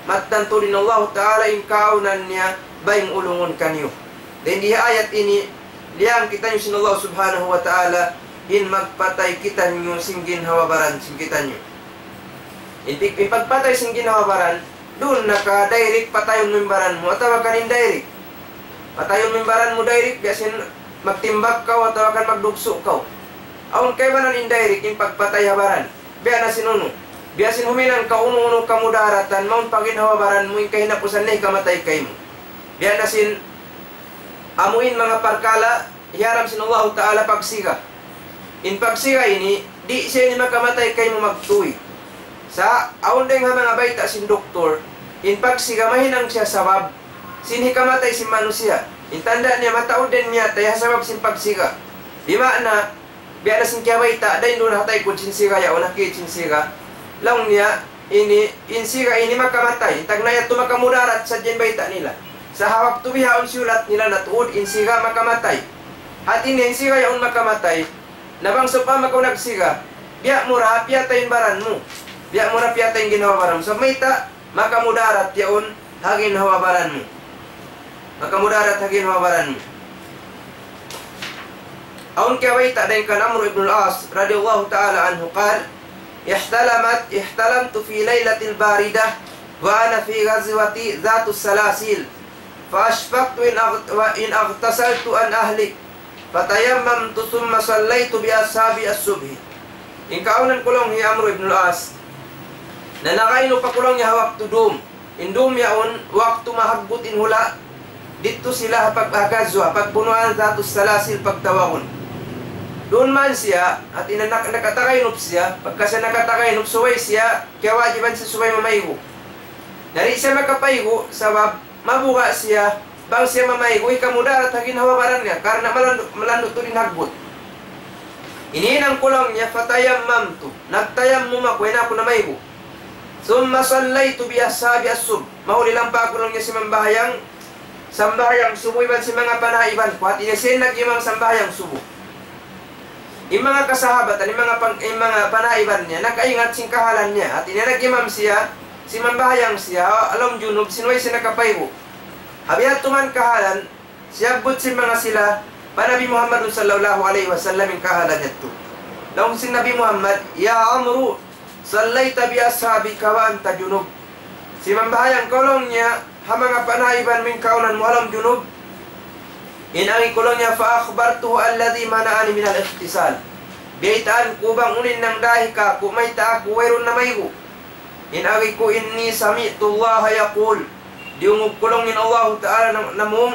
Mattan tuud in Allahu Ta'ala in kaawnan niya baying ulungun kaniyu. Dayn di ha ayat ini, liyang kitaniyu sin Allah Subhanahu wa Ta'ala, in magpatay kitaniyu sin ginhawa-baran sin kitaniyu. In pag-, in pagpatay sin ginhawa-baran, duun na ka direct patayun mu in baran mu, atawa kan indirect. Patayun mu in baran mu direct, biya' sin magtimbak kaw, atawa kan magdugsu' kaw. Awn kaibanan indirect, in pagpatay ha baran. Biya' na sin unu. Biya' sin huminang kaw unu-unu kamudaratan, mawn pa ginhawa-baran mu, in kahinapusan niya hikamatay kaymu. Biya' na sin amu in manga parkala' hiyaram sin Allahu Ta'ala pagsiga. In pagsiga ini, di' siya ini makamatay kaymu magtuy. Sa' awn dayn ha manga bayta' sin doktor, in pagsiga mahinang siya sabab sin hikamatay sin manusiya'. In tanda' niya mataud da in miyatay ha sabab sin pagsiga. Di' maana, biya' na sin kiyabayta', dayn duun ha taykud sin siga yaun, ha kid sin siga. Laung niya, ini, in siga ini makamatay. In tagna' yadtu makamudarat sadja in bayta' nila. Sa' ha waktu bihaun siyulat nila na tuud in siga makamatay. Hati niya in siga yaun makamatay. Na bang sawpama kaw nagsiga, biya' mu ra piyatay in baran mu. Biya' mu ra piyatay in ginhawa-baran mu. Sa' mayta', makamudarat yaun ha ginhawa-baran mu. Makamudarat ha ginhawa-baran mu. Awn kiyabayta' dayn kan Amr ibn al-As radiyallahu ta'ala anhu قال: احتلمت، احتلمت في ليلة باردة وأنا في غزوة ذات السلاسل، فأشفقت إن أغت-، وإن اغتسلت أن أهلك، فتيممت ثم صليت بأصحابي الصبح. In kaawnan ku laung hi Amr ibn al-As, na nakainup aku laung niya ha waktu dum. In dum yaun, waktu mahaggut in hula', didtu sila ha pag-, ha gazwa, pagbunuan Dhatus Salasil pagtawagun. Duun man siya, hati niya nak-, nakatagainup siya, pagka siya nakatagainup, subay siya, kiyawajiban siya subay mamaygu'. Na di' siya makapaygu', sabab mabuga' siya, bang siya mamaygu', hikamudarat ha ginhawa-baran niya, karna' malandu', malandu' tuud in haggut. Ini in hinang ku laung niya, فتيممت, nagtayammum aku, way na aku namaygu'. ثم صليت بأصحابي الصبح. Mahuli lampa aku laung niya simambahayang, sambahayang subuh iban sin manga panaiban ku. Hati niya siya in nag-imam sambahayang subuh. In manga kasahabatan, in manga pang-, in manga panaiban niya, nakaingat sin kahalan niya. Hati niya nag-imam siya, simambahayang siya, ha lawm junub, sin way siya nakapaygu'. Ha biya' tuman kahalan, siyabbut sin manga sila pa Nabi Muhammad sallallahu alayhi wasallam in kahalan yadtu. Laung sin Nabi Muhammad, يا عمرو، صليت بأصحابك وأنت جنب. Simambahayang kaw laung niya, ha manga panaiban mu in kaunan mu ha lawm junub. In agi ku laung niya, فأخبرته الذي منعني من الاغتسال. Biyaytaan ku bang unu in nangdahi kāku', mayta' aku wayruun namaygu'. In agi ku, إني سمعت الله يقول. Diyungug ku laung in Allahu Ta'ala nam-, namung,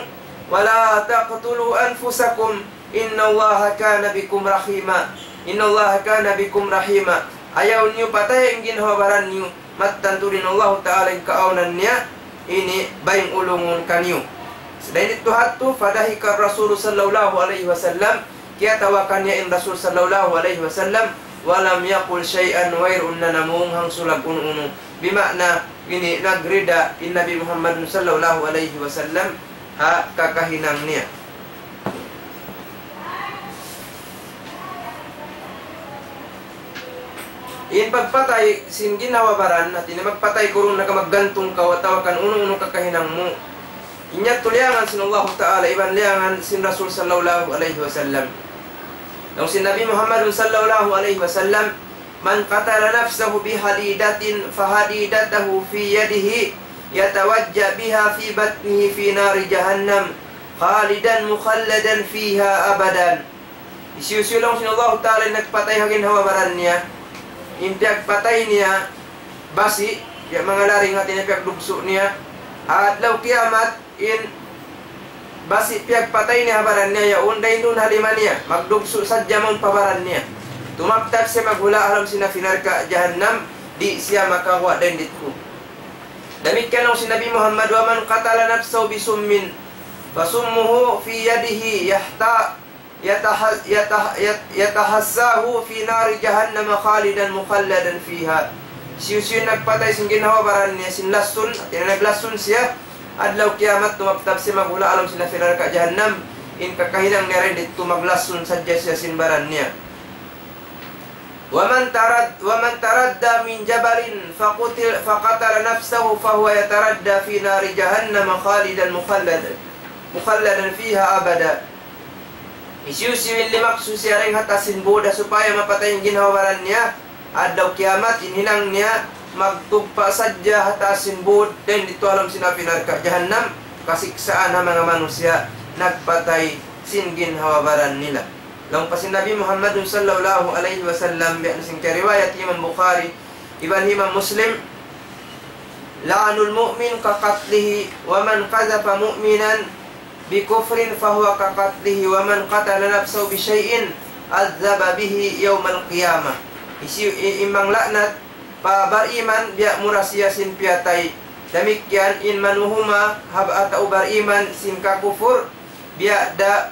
ولا تقتلوا أنفسكم إن الله كان بكم رحيما. إن الله كان بكم رحيما. Ayaw niyu pataya in ginhawa-baran niyu, mattan tuud in Allahu Ta'ala in kaawnan niya, ini bayng ulungun kaniyu. Dayn didtu hadtu, فضحك الرسول صلى الله عليه وسلم, kiyatawa kaniya in Rasul sallallahu alayhi wasallam, ولم يقل شيئا, wayruun na namung hangsulag unu-unu. Bima'na, ini nagrida in Nabi Muhammad sallallahu alayhi wasallam ha kakahinang niya. In pagpatay sin ginhawa-baran, hati niya magpatay kaw duun na ka maggantung kaw atawa kan unu-unu kakahinang mu. In yadtu liyangan sin Allahu Ta'ala, iban liyangan sin Rasul sallallahu alayhi wasallam. Laung sin Nabi Muhammad sallallahu alayhi wasallam, من قتل نفسه بحديدة فحديدته في يده يتوجأ بها في بطنه في نار جهنم خالدا مخلدا فيها أبدا. Hisiyu-siyu laung sin Allahu Ta'ala in nagpatay ha ginhawa-baran niya, in piyagpatay niya basi', ya manga laring hati niya piyagdugsu' niya, adlaw kiyamat, in basi' piyagpatay niya ha baran niya yaun, dayn duun ha lima niya, magdugsu' sadja mawn pa baran niya. Tumabtab siya maghula' ha lawm sin api narka' jahannam, di' siya makaguwa' dayn didtu. Damikkiyan laung sin Nabi Muhammad, ومن قتل نفسه بسم فسمه في يده يحت-، يتح-، يتح-، يت-، يتحساه في نار جهنم خالدا مخلدا فيها. Hisiyu-siyu in nagpatay sin ginhawa-baran niya sin lasun, hati niya naglasun siya, adlaw kiyamat tumabtab siya maghula' ha lawm sin api narka' jahannam, in kakahinang niya dayn didtu maglasun sadja siya sin baran niya. ومن ترد-، ومن تردى من جبل فقتل، فقتل نفسه فهو يتردى في نار جهنم خالدا مخلدا، مخلدا فيها أبدا. Hisiyu-siyu in limaksu siya dayn ha taas sin būd supaya mapatay in ginhawa-baran niya, adlaw kiyamat in hinang niya magtugpa' sadja ha taas sin būd, dayn didtu ha lawm sin api narka' jahannam, kasiksaan ha manga manusiya' nagpatay sin ginhawa-baran nila. Laung pa sin Nabi Muhammad sallallahu alayhi wasallam, biya' na sin kariwayat Imam Bukhari iban Imam Muslim, لعن المؤمن كقتله، ومن قذف مؤمنا بكفر فهو كقتله، ومن قتل نفسه بشيء عذب به يوم القيامة. Hisiyu-, i-, in manglaknat pa bariman biya' mura siya sin piyatay. Damikkiyan in manuhuma ha ba-, tau bariman sin kakupur, biya' da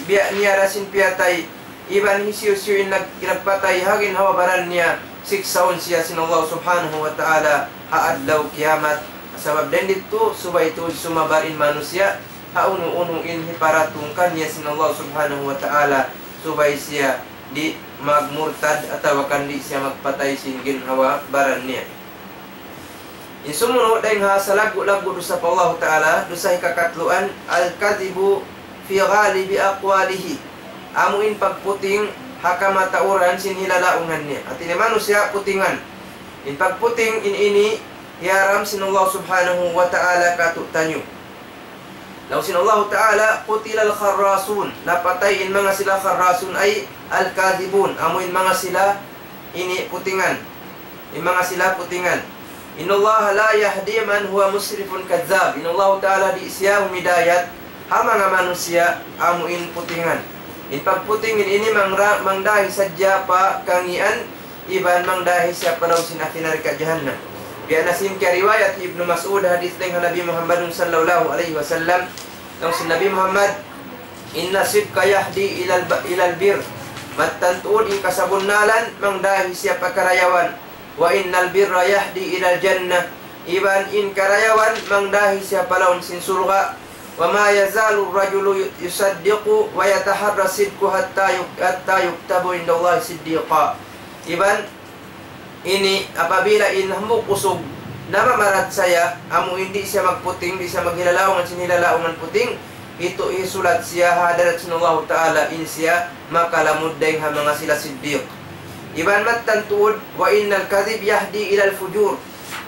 biya' niya da sin piyatay, iban hisiyu-siyu in nag-, nagpatay ha ginhawa-baran niya, siksaun siya sin Allah Subhanahu wa Ta'ala ha adlaw kiyamat. Sabab dayn didtu, subay tuud sumabar in manusiya' ha unu-unu in hiparatung kaniya sin Allah Subhanahu wa Ta'ala, subay siya di' magmurtad atawa kan di' siya magpatay sin ginhawa-baran niya. In sumunu' dayn ha salaggu'-laggu' dusa pa Allahu Ta'ala, dusa hikakatluan, الكذب في غالب أقواله. Amu in pagputing ha kamatauran sin hilalaungan niya. Hati niya manusiya' putingan. In pagputing in ini hiyaram sin Allah Subhanahu wa Ta'ala kātu'niyu. Laung sin Allahu Ta'ala, قتل الخراصون. Napatay in manga sila kharrasun ay الكاذبون. Amu in manga sila ini putingan. In manga sila putingan. إن الله لا يهدي من هو مسرف كذاب. In Allahu Ta'ala di' siya humidayat ha manga manusiya' amu in putingan. In pagputing in ini mangra-, mangdahi sadja pa kangīan iban mangdahi siya pa lawm sin api narka' jahannam. Biya' na sin kariwayat Ibnu Mas'ud hadith dayn ha Nabi Muhammadun sallallahu alayhi wasallam, laung sin Nabi Muhammad, إن الصدق يهدي إلى الب-، إلى البر. Mattan tuud in kasabunnalan mangdahi siya pa karayawan. وإن البر يهدي إلى الجنة. Iban in karayawan mangdahi siya pa lawm sin surga'. وما يزال الرجل يصدق ويتحرى الصدق حتى يك-، حتى يكتب عند الله صديقا. Iban ini apabila in hambuuk usug namamarachaya, amu in di' siya magputing, di' siya maghilalaungan sin hilalaungan puting, itu hisulat siya ha hadarat sin Allahu Ta'ala in siya makalamud dayng ha manga sila siddiq. Iban mattan tuud, وإن الكذب يهدي إلى الفجور.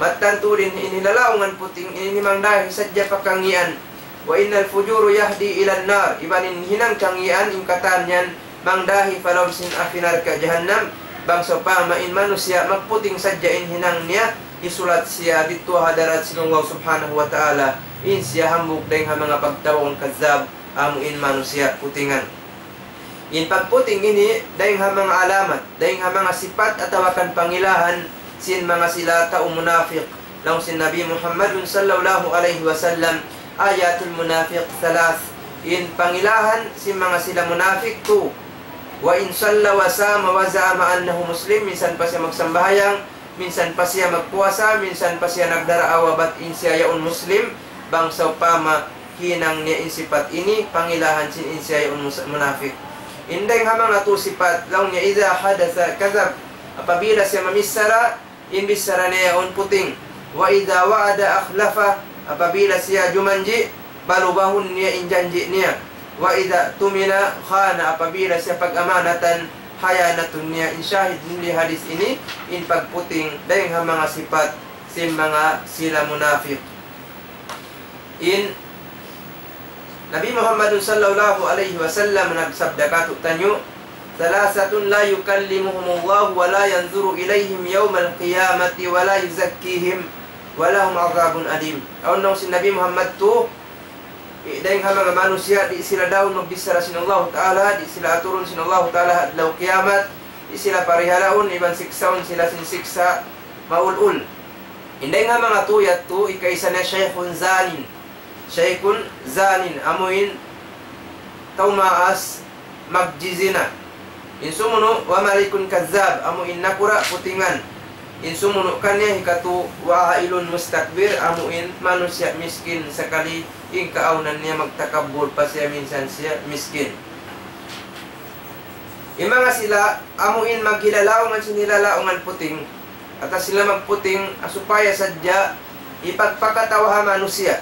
Mattan tuud in, in hilalaungan puting, in ini mangdahi sadja pa kangīan. وإن الفجور يهدي إلى النار. Iban in hinang kangīan, in katan yan, mangdahi pa lawm sin api narka' jahannam. Bang sawpama in manusiya' magputing sadja in hinang niya, hisulat siya didtu ha hadarat sin Allah Subhanahu wa Ta'ala, in siya hambuuk dayng ha manga pagtawagun kazzab, amu in manusiya' putingan. In pagputing ini, dayng ha manga alamat, dayng ha manga sipat atawa kan pangilahan sin manga sila tau munafik. Laung sin Nabi Muhammadun sallallahu alayhi wasallam, آية المنافق ثلاث. In pangilahan sin manga sila munafik tū. وإن صلى وصام وزعم أنه مسلم, minsan pa siya magsambahayang, minsan pa siya magpuasa, minsan pa siya nagdaraawa bat in siya yaun Muslim, bang sawpama hinang niya in sipat ini, pangilahan sin in siya yaun mus-, munafik. In dayng ha manga tū sipat, laung niya, إذا حدث كذب, apabila siya mamichara, in bichara niya yaun puting. وإذا وعد أخلف, apabila siya jumanji', balubahun niya in janji' niya. وإذا اؤتمن خان, apabila siya pag-amanatan, khiyanatun niya. In shahid sin hadith ini, in pagputing, dayng ha manga sipat sin manga sila munafik. In Nabi Muhammad sallallahu alayhi wasallam nagsabda kātu'niyu, ثلاثة لا يكلمهم الله ولا ينظر إليهم يوم القيامة ولا يزكيهم ولهم عذاب أليم. Awn laung sin Nabi Muhammad tū, i-, dayng ha manga manusiya', di' sila daun magbichara sin Allahu Ta'ala, di' sila aturun sin Allahu Ta'ala ha adlaw kiyamat, di' sila parihalaun, iban siksaun sila sin siksa' maul-ul. In dayng ha manga tū yadtu, hikaisa niya شيخ زان. شيخ زان, amu in tau maas magjizina. In sumunu', وملك كذاب, amu in nakura' putingan. In sumunu' kaniya hikatū, وعائل مستكبر, amu in manusiya' miskin sakali, in kaawnan niya magtakabbur pa siya minsan siya miskin. In manga sila, amu in maghilalaungan sin hilalaungan puting, atawa sila magputing, ah, supaya sadja hipagpakatawa ha manusiya'.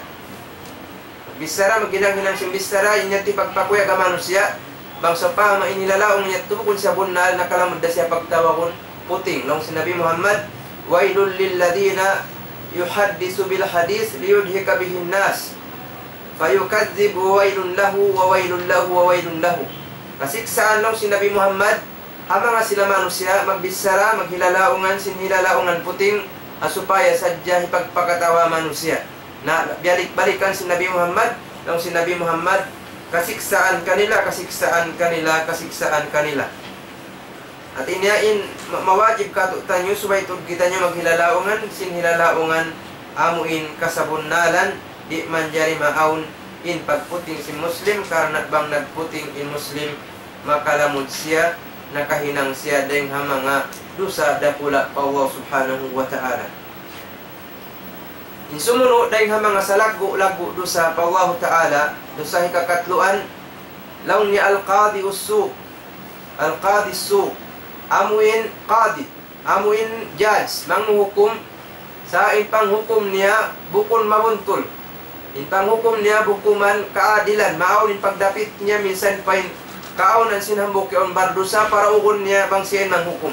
Magbichara, maghinang-hinang sin bichara, in yadtu hipagpakuyag ha manusiya', bang sawpama in hilalaung niya yadtu bukun siya bunnal, nakalamud da siya pagtawagun puting. Laung sin Nabi Muhammad, ويل للذين يحدث بالحديث ليضحك به الناس فيكذب ويل له وويل له وويل له. Kasiksaan, laung sin Nabi Muhammad, ha manga sila manusiya', magbichara, maghilalaungan sin hilalaungan puting, ah, supaya sadja hipagpakatawa manusiya'. Na, biyalik-balikan sin Nabi Muhammad, laung sin Nabi Muhammad, kasiksaan kanila, kasiksaan kanila, kasiksaan kanila. Hāti niya in ma-, mawajib kātu'niyu, subay tuud kitaniyu maghilalaungan sin hilalaungan amu in kasabunnalan, di' manjari maawn in pagputing sin Muslim, karna' bang nagputing in Muslim, makalamud siya, nakahinang siya dayng ha manga dusa dakula' pa Allah Subhanahu wa Ta'ala. In sumunu' dayng ha manga salaggu'-laggu' dusa pa Allahu Ta'ala, dusa hikakatluan, laung niya القاضي السوء. القاضي السوء. Amu in qadi, amu in judge, manghukum, sa' in panghukum niya bukun mabuntul. In panghukum niya bukun kaadilan, maawn in pagdapit niya minsan pa in kaawnan sin hambuuk yaun bardusa, paraugun niya bang siya in manghukum.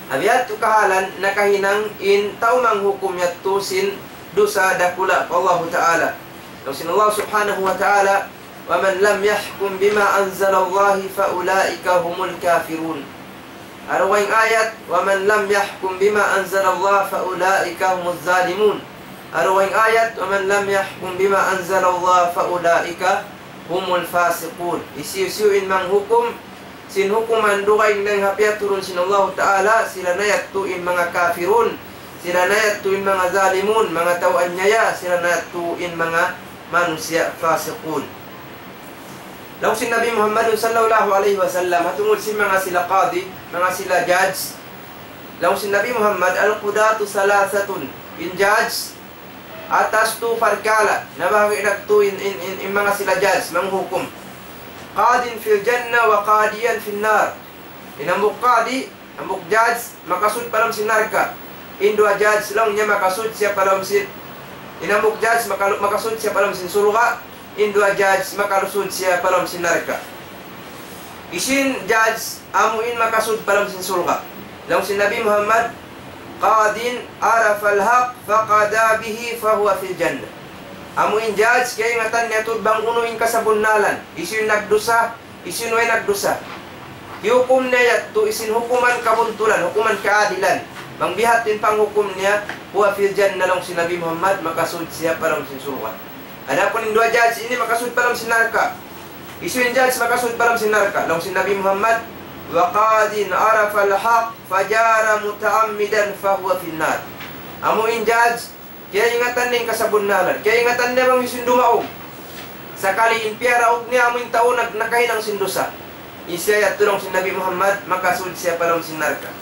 Ha biya' yadtu kahalan nakahinang in tau manghukum yadtu sin dusa dakula' pa Allahu Ta'ala. Laung sin Allah Subhanahu wa Ta'ala, ومن لم يحكم بما أنزل الله فأولئك هم الكافرون. Ha dugaing ayat, ومن لم يحكم بما أنزل الله فأولئك هم الظالمون. Ha dugaing ayat, ومن لم يحكم بما أنزل الله فأولئك هم الفاسقون. Hisiyu-siyu in manghukum sin hukuman dugaing dayn ha piyaturun sin Allahu Ta'ala, sila na yadtu in manga kafirun, sila na yadtu in manga zalimun, manga tau anyaya, sila na yadtu in manga manusiya' fasiqun. Laung sin Nabi Muhammadun sallallahu alayhi wasallam, ha tungud sin manga sila qadi, manga sila judge, Laung sin Nabi Muhammad, القضاة ثلاثة. In judge, atas tu parkala', nabahagi' nagtu in, in, in, in manga sila judge, manghukum. قاض في الجنة وقاضيان في النار. In hambuuk qadi, hambuuk judge, makasud pa lawm sin narka'. In duwa judge, laung niya makasud siya pa lawm sin, in hambuuk judge, makalu-, makasud siya pa lawm sin surga'. In duwa judge, makasud siya pa lawm sin narka'. Hisiyu in judge, amu in makasud pa lawm sin surga'? Laung sin Nabi Muhammad, قاض عرف الحق فقضى به فهو في الجنة. Amu in judge, kaingatan niya tuud bang unu in kasabunnalan. Hisiyu in nagdusa, hisiyu in way nagdusa. Hiyukum niya yadtu sin hukuman kabuntulan, hukuman kaadilan. Bang biya' ha yan in panghukum niya, فهو في الجنة, laung sin Nabi Muhammad, makasud siya pa lawm sin surga'. Adapun in duwa judge ini makasud pa lawm sin narka'. Hisiyu in judge makasud pa lawm sin narka'? Laung sin Nabi Muhammad, وقاض عرف الحق فجار متعمدا فهو في النار. Amu in judge, kaingatan niya in kasabunnalan. Kaingatan niya bang hisiyu in dumaug. Sakali in piyaraug niya amu in tau nag-, nakahinang sin dusa. In siya yadtu, laung sin Nabi Muhammad, makasud siya pa lawm sin narka'.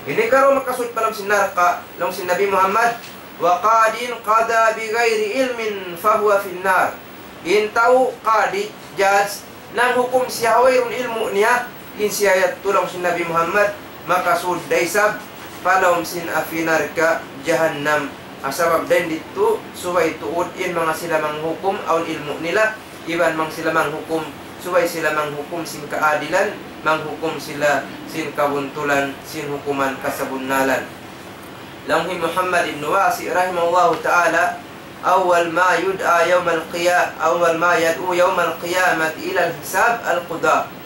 Ini karu makasud pa lawm sin narka', laung sin Nabi Muhammad, وقاض قضى بغير علم فهو في النار. In tau qadi, judge, nanghukum siya ha wayruun ilmu' niya, in siya yadtu, laung sin Nabi Muhammad, makasud da isab pa lawm sin api narka' jahannam. Sabab dayn ditu, subay tuud in manga sila manghukum, awn ilmu' nila, iban bang sila manghukum, subay sila manghukum sin kaadilan, manghukum sila sin kabuntulan, sin hukuman kasabunnalan. Laung hi Muhammad ibn Wasi' rahimahullahu ta'ala, أول ما يدعى يوم القيا-، أول ما يدعو يوم القيامة إلى الحساب القضاة.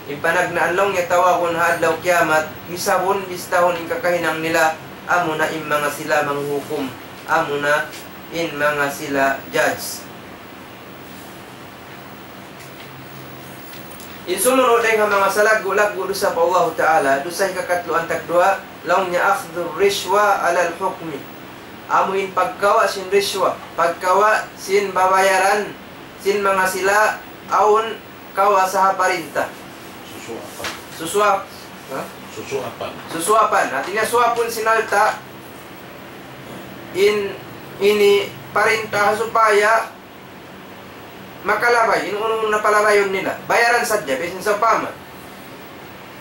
In panagnaan laung niya tawagun ha adlaw kiyamat, hisabun, bistahun in kakahinang nila, amuna in manga sila manghukum, amuna in manga sila judge. In sumunu' dayn ha manga salaggu'-laggu' dusa pa Allahu Ta'ala, dusa hikakatluan tagduwa, laung niya أخذ الرشوة على الحكم. Amu in pagkawa' sin rishwa, pagkawa' sin babayaran, sin manga sila awn kawasa ha parinta. Susuapan. Susuap-, ha? Susuapan. Susuapan. Hati niya suapun sin alta', in, ini parinta supaya makalabay, in unu-unu na palabayun nila. Bayaran sadja, bisan sawpama.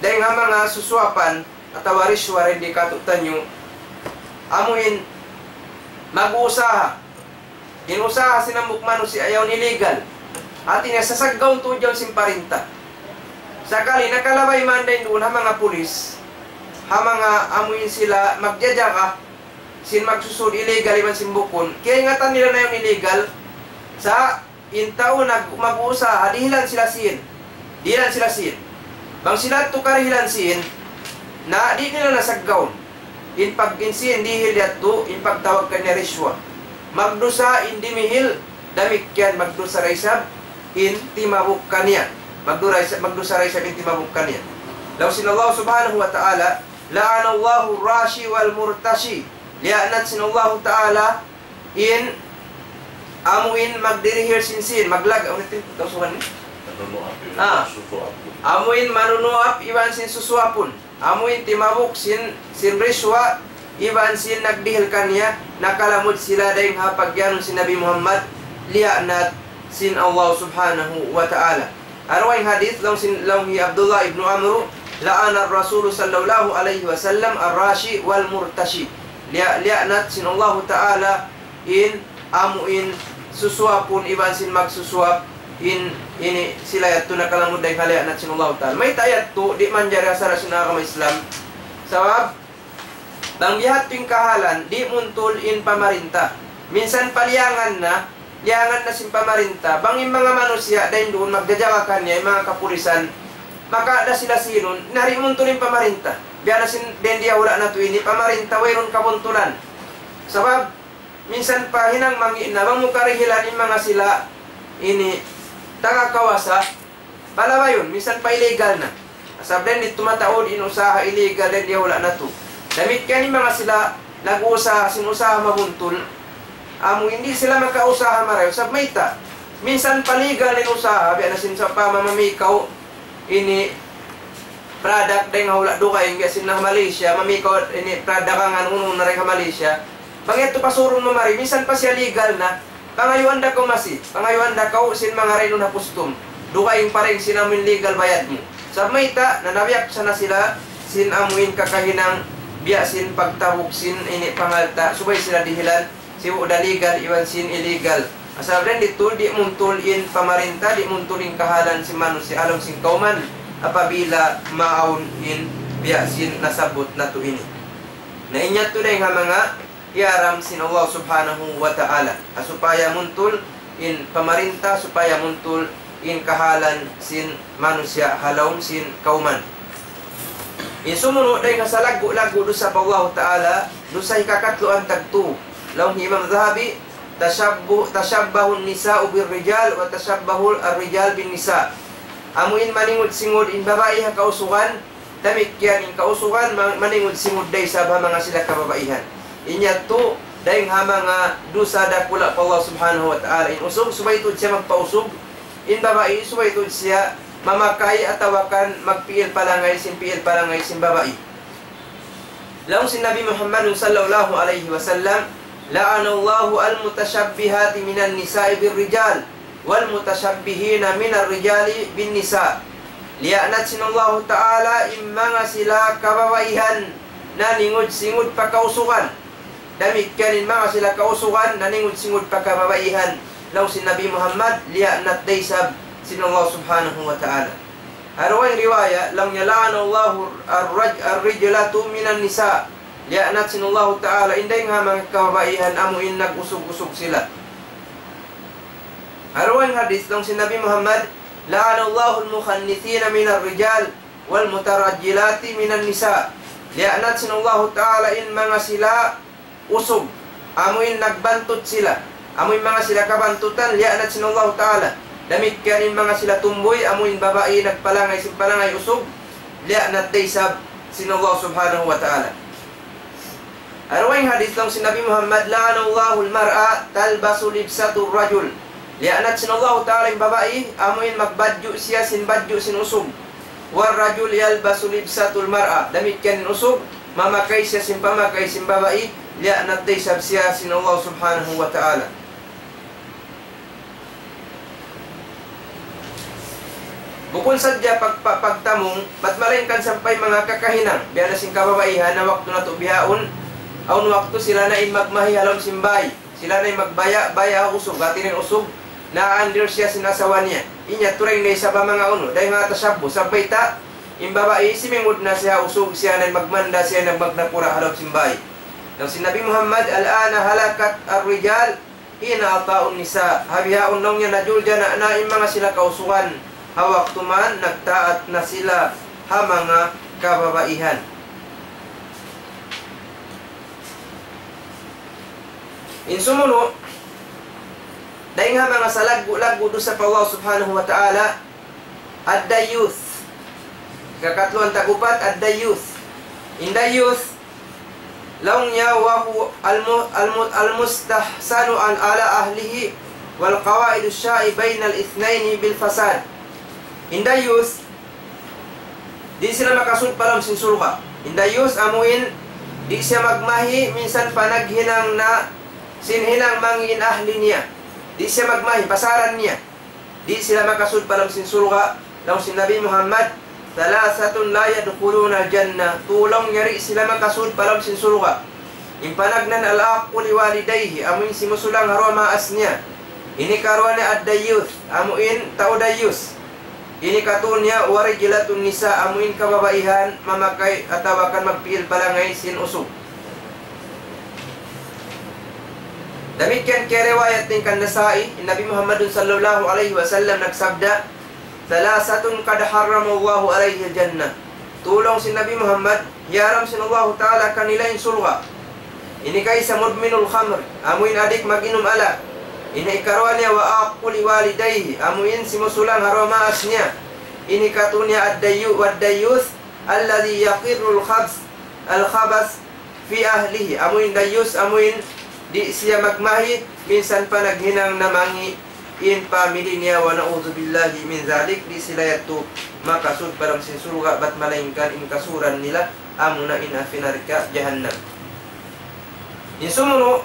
Dayn ha manga susuapan, atawa rishwa dayn di katu'taniyu, amu in mag-uusaha. In usaha sin hambuuk manusiya' yaun illegal. Hati niya sasaggaun tuud yaun sin parinta. Sakali nakalabay man dayn duun ha manga pulis, ha manga amu in sila magjajaga, sin magsusud illegal iban sin bukun. Kaingatan nila na yaun illegal, sa' in tau nag-, mag-uusaha, dihilan sila sin. Dihilan sila sin. Bang sila yadtu kadihilan sin, na di' nila na saggaun. In pag-, in sin dihil yadtu, in pagtawag kaniya rishwa. Magdusa in dimihil, damikkiyan magdusa da isab in timabuk kaniya. Magdura-, magdusa da isab in timabuk kaniya. Laung sin Allah Subhanahu wa Ta'ala, لعن الله الراشي والمرتشي. Liyaanat sin Allahu Ta'ala in amu in magdirihil sin sin, maglag-, unu in Tausugan niya? Manunuap iban Ah. Susuapun. Amu in manunuap iban sin susuapun. Amu in timabuk sin, sin rishwa iban sin nagdihil kaniya, nakalamud sila dayn ha pagiyanun sin Nabi Muhammad, liyaanat sin Allah Subhanahu wa Ta'ala. Awn hadith laung sin, laung hi Abdullah ibn Amr, لعن الرسول صلى الله عليه وسلم الراشي والمرتشي. Liya-, liyaanat sin Allahu Ta'ala in amu in susuapun iban sin magsusuap, in ini sila yadtu nakalamud dayn ha liyaanat sin Allahu Ta'ala. Mayta' yadtu di' manjari ha sara' sin agama Islam. Sabab, bang biya' ha yan in kahalan, di' muntul in pamarinta. Minsan paliyangan na, liyangan na sin pamarinta. Bang in manga manusiya' dayn duun magjajaga kaniya, in manga kapulisan, maka da sila sinun, na di' muntul in pamarinta. Biya' na sin dayn di ha hula' natu' ini, pamarinta wayruun kabuntulan. Sabab, minsan pa hinang mangi' na, bang mu karihilan in manga sila ini, taga kawasa, palabayun, minsan pa illegal na. Sabab dayn di tumataud in usaha illegal dayn di ha hula' natu'. Damikkiyan in manga sila nag-uusaha sin usaha mabuntul. Amu in di' sila makausaha marayaw. Sabab mayta'? Minsan pa legal in usaha, biya' na sin sawpama mamikaw ini Product dayn ha hula' dugaing, biya' sin ha Malaysia, mami kaw ini product dagangan unu-unu dayn ha Malaysia. Bang yadtu pasurun mu mari, minsan pa siya legal na, pangayuan da kaw masi, pangayuan da kaw sin manga dayn duun ha custom. Dugaing pa dayn sin amuin legal bayad mu. Sa' mayta', nanabiyak sa na sila, sin amuin kakahinang, biya' sin pagtabuk sin ini pangalta', subay sila dihilan, sibu' da legal iban sin illegal. Asal dayn ditu di' muntul in pamarinta, di' muntul in kahalan sin manusiya' ha lawm sin kawman apabila maawn in biya' sin nasabbut natu' ini. Na in yadtu dayn ha manga hiyaram sin Allah Subhanahu wa Ta'ala. Ha supaya muntul in pamarinta, supaya muntul in kahalan sin manusiya' ha lawm sin kawman. In sumunu' dayn ha salaggu'-laggu' dusa pa Allah Ta'ala, dusa hikakatluan tagtu. Laung hi Imam Dhahabi, تشبه، تشبه النساء بالرجال وتشبه الرجال بالنساء. Amu in maningud-singud in babai ha kausugan, damikkiyan in kausugan ma-, maningud-singud da isab ha manga sila kababaihan. In yadtu, dayn ha manga dusa dakula' pa Allah Subhanahu wa Ta'ala. In usug, subay tuud siya magpausug. In babai, subay tuud siya mamakay atawa kan magpiil palangay sin piil palangay sin babai. Laung sin Nabi Muhammad sallallahu alayhi wasallam, لعن الله المتشبهات من النساء بالرجال والمتشبهين من الرجال بالنساء. Liyaanat sin Allahu Ta'ala in manga sila kababaihan naningud-singud pa kausugan. Damikkiyan in manga sila kausugan naningud-singud pa kababaihan. Laung sin Nabi Muhammad, liyaanat da isab sin Allah Subhanahu wa Ta'ala. Ha dugaing riwaya, laung niya, لعن الله الرج-، الرجلة من النساء. Liyaanat sin Allahu Ta'ala in dayn ha manga kababaihan amu in nag-usug-usug sila. Ha dugaing hadith, laung sin Nabi Muhammad, لعن الله المخنثين من الرجال والمترجلات من النساء. Liyaanat sin Allahu Ta'ala in manga sila usug, amu in nagbantut sila, amu in manga sila kabantutan, liyaanat sin Allahu Ta'ala. Damikkiyan in manga sila tumbuy, amu in babai nagpalangay sin palangay usug, liyaanat da isab sin Allah Subhanahu wa Ta'ala. Ha dugaing hadith laung sin Nabi Muhammad, لعن الله المرأة تلبس لبسة الرجل. Liyaanat sin Allahu Ta'ala in babai, amu in magbadju' siya sin badju' sin usug. والرجل يلبس لبسة المرأة. Damikkiyan in usug, mamakay siya sin pamakay sin babai, liyaanat da isab siya sin Allah Subhanahu wa Ta'ala. Bukun sadja pag-, pa-, pagtamung, bat malaingkan sampay manga kakahinang, biya' na sin kababaihan ha waktu natu' bihaun, awn waktu sila na in magmahi ha lawm sin bāy, sila na in magbaya'-baya' ha usug, hāti niya in usug, na-under siya sin asawa niya. In yadtu dayn ha isab ha manga unu, dayn ha tashabbuh, sabab mayta', in babai simingud na siya ha usug, siya na in magmanda, siya na in magnapura' ha lawm sin bāy. Laung sin Nabi Muhammad, الآن هلكت الرجال حين أطاعوا النساء. Ha bihaun laung niya najuljana' na in manga sila kausugan, ha waktu man nagtaat na sila ha manga kababaihan. In sumunu', dayn ha manga salaggu'-laggu' dusa pa Allah Subhanahu wa Ta'ala, الديوث. Hikakatluan tag-upat, الديوث. In dayyuth, laung niya, وهو الم-، الم-، المستحسن على أهله والقواعد الشائعة بين الاثنين بالفساد. In dayyuth, di' sila makasud pa lawm sin surga'. In dayyuth amu in, di' siya magmahi minsan pa naghinang na sin hinang mangi' in ahli niya. Di' siya magmahi, pasaran niya. Di' sila makasud pa lawm sin surga', laung sin Nabi Muhammad, ثلاثة لا يدخلون الجنة. Tū laung niya di' sila makasud pa lawm sin surga'. In panagnaan العاق لوالديه, amu in simusulang ha duwa maas niya. Ini karuwa niya الديوث, amu in tau dayyus. Ini katū niya ورجلة النساء, amu in kababaihan mamakay atawa kan magpiil palangay sin usug. Damikkiyan kiyariwayat dayn kan Nasa'i, in Nabi Muhammadun sallallahu alayhi wasallam nagsabda, ثلاثة قد حرم الله عليهم الجنة. Tū laung sin Nabi Muhammad, hiyaram sin Allahu Ta'ala kanila in surga'. Ini kaisa مدمن الخمر, amu in adik mag-inum alak. Ini ikaruwa niya وعاق لوالديه, amu in simusulang ha duwa maas niya. Ini katū niya الديو-، والديوث الذي يقر الخبث، الخبث في أهله. Amu in dayyus, amu in di' siya magmahi, minsan pa naghinang na mangi' in family niya, ونعوذ بالله من ذلك, di' sila yadtu makasud pa lawm sin surga', bat malaingkan in kasuran nila, amuna in api narka' jahannam. In sumunu',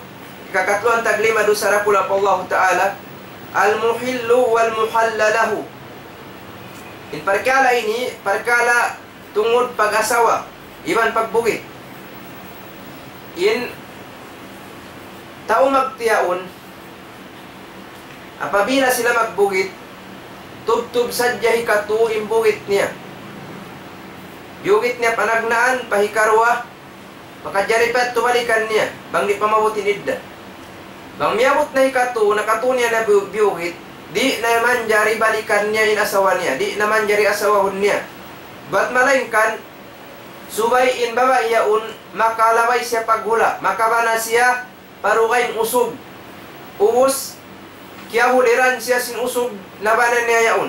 hikakatluan taglima dusa dakula' pa Allahu Ta'ala, المحل والمحل له. In parkala' ini, parkala' tungud pag-asawa, iban pagbugit. In tau magtiyaun, apabila sila magbugit, tubtub sadja hikatu in bugit niya. Biyugit niya panagnaan, pa hikaruwa, makajari pa yadtu balikan niya, bang di' pa maabut in idda. Bang miyabut na hikatu, nakatu niya na biyu-, biyugit, di' na manjari balikan niya in asawa niya, di' na manjari asawahun niya. Bat malaingkan, subay in babai yaun, makalabay siya paghula', makabana siya pa dugaing usug. Ubus, kiyahuliran siya sin usug nabana niya yaun.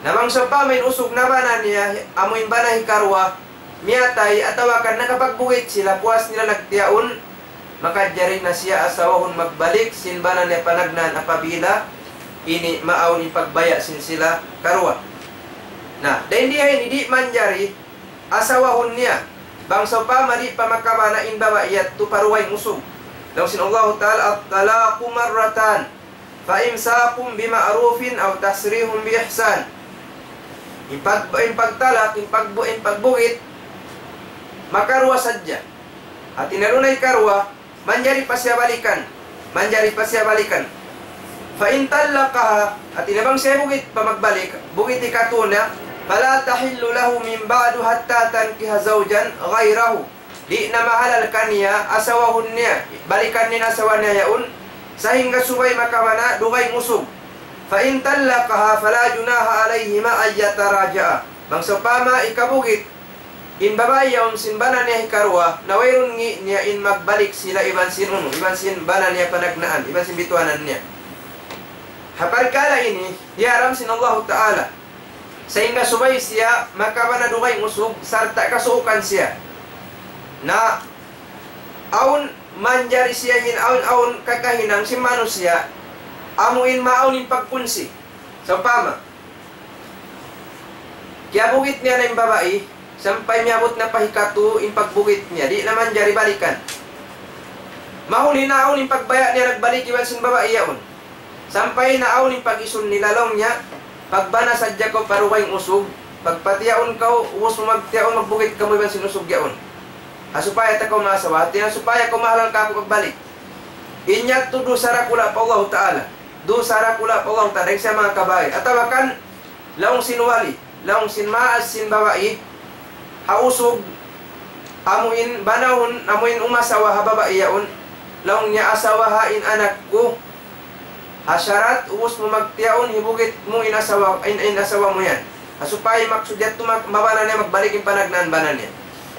Na bang sawpama in usug nabana niya, amu in bana hikaruwa, miyatay, atawa kan nakapagbugit sila, puas nila nagtiyaun, makajari na siya asawahun magbalik sin bana niya panagnaan apabila ini maawn in pagbaya' sin sila karuwa. Na, dayn diha ini di' manjari asawahun niya. Bang sawpama di' pa makabana in babai yadtu pa dugaing usug. Laung sin Allahu Ta'ala, الطلاق مرتان فإمساك بمعروف أو تسريح بإحسان. In pag-, in pagtalak, in pagbu-, in pagbugit, makaruwa sadja. Hati niya dunay karuwa, manjari pa siya balikan. Manjari pa siya balikan. فإن طلقها, hati niya bang siya bugit pa magbalik, bugit hikatu niya, فلا تحل له من بعد حتى تنكح زوجا غيره. Di' na mahalal kaniya, asawahun niya, balikan niya in asawa niya yaun, sahingga subay makabana dugaing usug. فإن طلقها فلا جناح عليهما أن يتراجعا. Bang sawpama hikabugit in babai yaun sin bana niya hikaruwa, na wayruun ngi' niya in magbalik sila iban sin unu, iban sin bana niya panagnaan, iban sin bituanan niya. Ha parkala' ini, diyaram sin Allahu Ta'ala. Sahingga subay siya makabana dugaing usug, sarta' kasuukan siya. Na, awn manjari siya hin awn-awn kakahinang sin manusiya', amu in maawn in pagkunsi. Sawpama, kiyabugit niya na in babai, sampay miyabut na pa hikatu in pagbugit niya, di' na manjari balikan. Mahuli na awn in pagbaya' niya nagbalik iban sin babai yaun. Sampay na awn in pag-isun nila, laung niya, pagbana sadja kaw pa dugaing usug, pagpatiyaun kaw, ubus mu magtiyaun, magbugit kamu iban sin usug yaun. Ha supaya ta kaw maasawa, hati niya supaya kaw mahalal kaku' pagbalik. In yadtu dusa dakula' pa Allahu Ta'ala. Dusa dakula' pa Allahu Ta'ala, dayn sin manga kabair. Atawa kan, laung sin wali, laung sin maas sin babai, ha usug, amu in banahun, amu in umasawa ha babai yaun, laung niya asawaha in anak ku, ha sharat, ubus mu magtiyaun, hibugit mu in asawa, in, in asawa mu yan. Ha supaya maksud yadtu mag-, mabana niya, magbalik in panagnaan bana niya.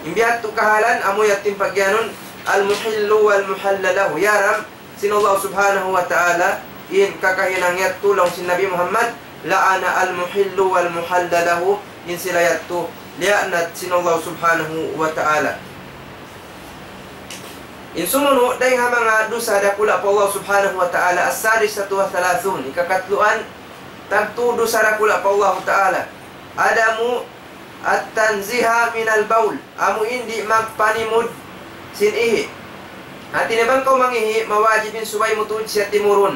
In biya' yadtu kahalan, amu yadtu in pagyanun, المحل والمحل له. Yaram, sin Allah Subhanahu wa Ta'ala, in kakahinang yadtu laung sin Nabi Muhammad, لعن المحل والمحل له, in sila yadtu, liyaanat sin Allah Subhanahu wa Ta'ala. In sumunu', dayn ha manga dusa dakula' pa Allah Subhanahu wa Ta'ala, السادسة والثلاثون, hikakatluan, tagtu dusa dakula' pa Allah Ta'ala. عدم التنزيه من البول, amu in di' magpanimud sin ihi'. Hati niya bang kaw mangihi', mawajib in subay mu tuud siya timurun.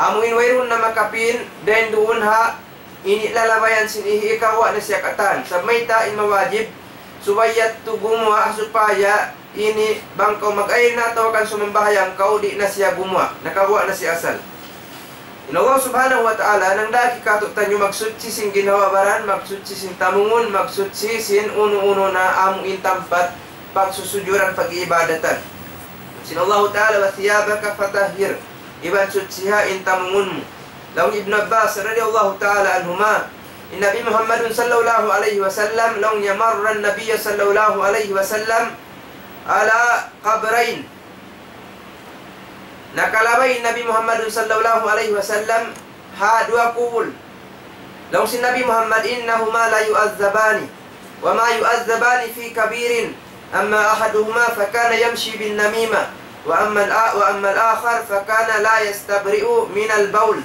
Amu in wayruun na makapin, dayn duun ha ini lalabayan sin ihi', ikawa' na siya katan. Sa' mayta' in mawajib, subay yadtu gumuwa' supaya ini bang kaw mag-ayn na atawa kan sumambahayang kaw, di' na siya gumuwa', nakaguwa' na siya asal. In Allah Subhanahu wa Ta'ala, nangdaki kātu'niyu magsuchi sin ginhawa-baran, magsuchi sin tamungun, magsuchi sin unu-unu na amu in tampat pagsusujuran, pag-iibadatan. Sin Allah Ta'ala, وثيابك فطهر, iban suchiha in tamungun mu. Laung Ibn Abbas radiyallahu ta'ala anhuma, in Nabi Muhammadun sallallahu alayhi wasallam, laung niya مر النبي صلى الله عليه وسلم على قبرين. Nakalabay Nabi Muhammadun sallallahu alayhi wasallam ha duwa kubul. Laung sin Nabi Muhammad, إنهما ليعذبان وما يعذبان في كبير أما أحدهما فكان يمشي بالنميمة وأما الآ-، وأما الآخر فكان لا يستبرئ من البول.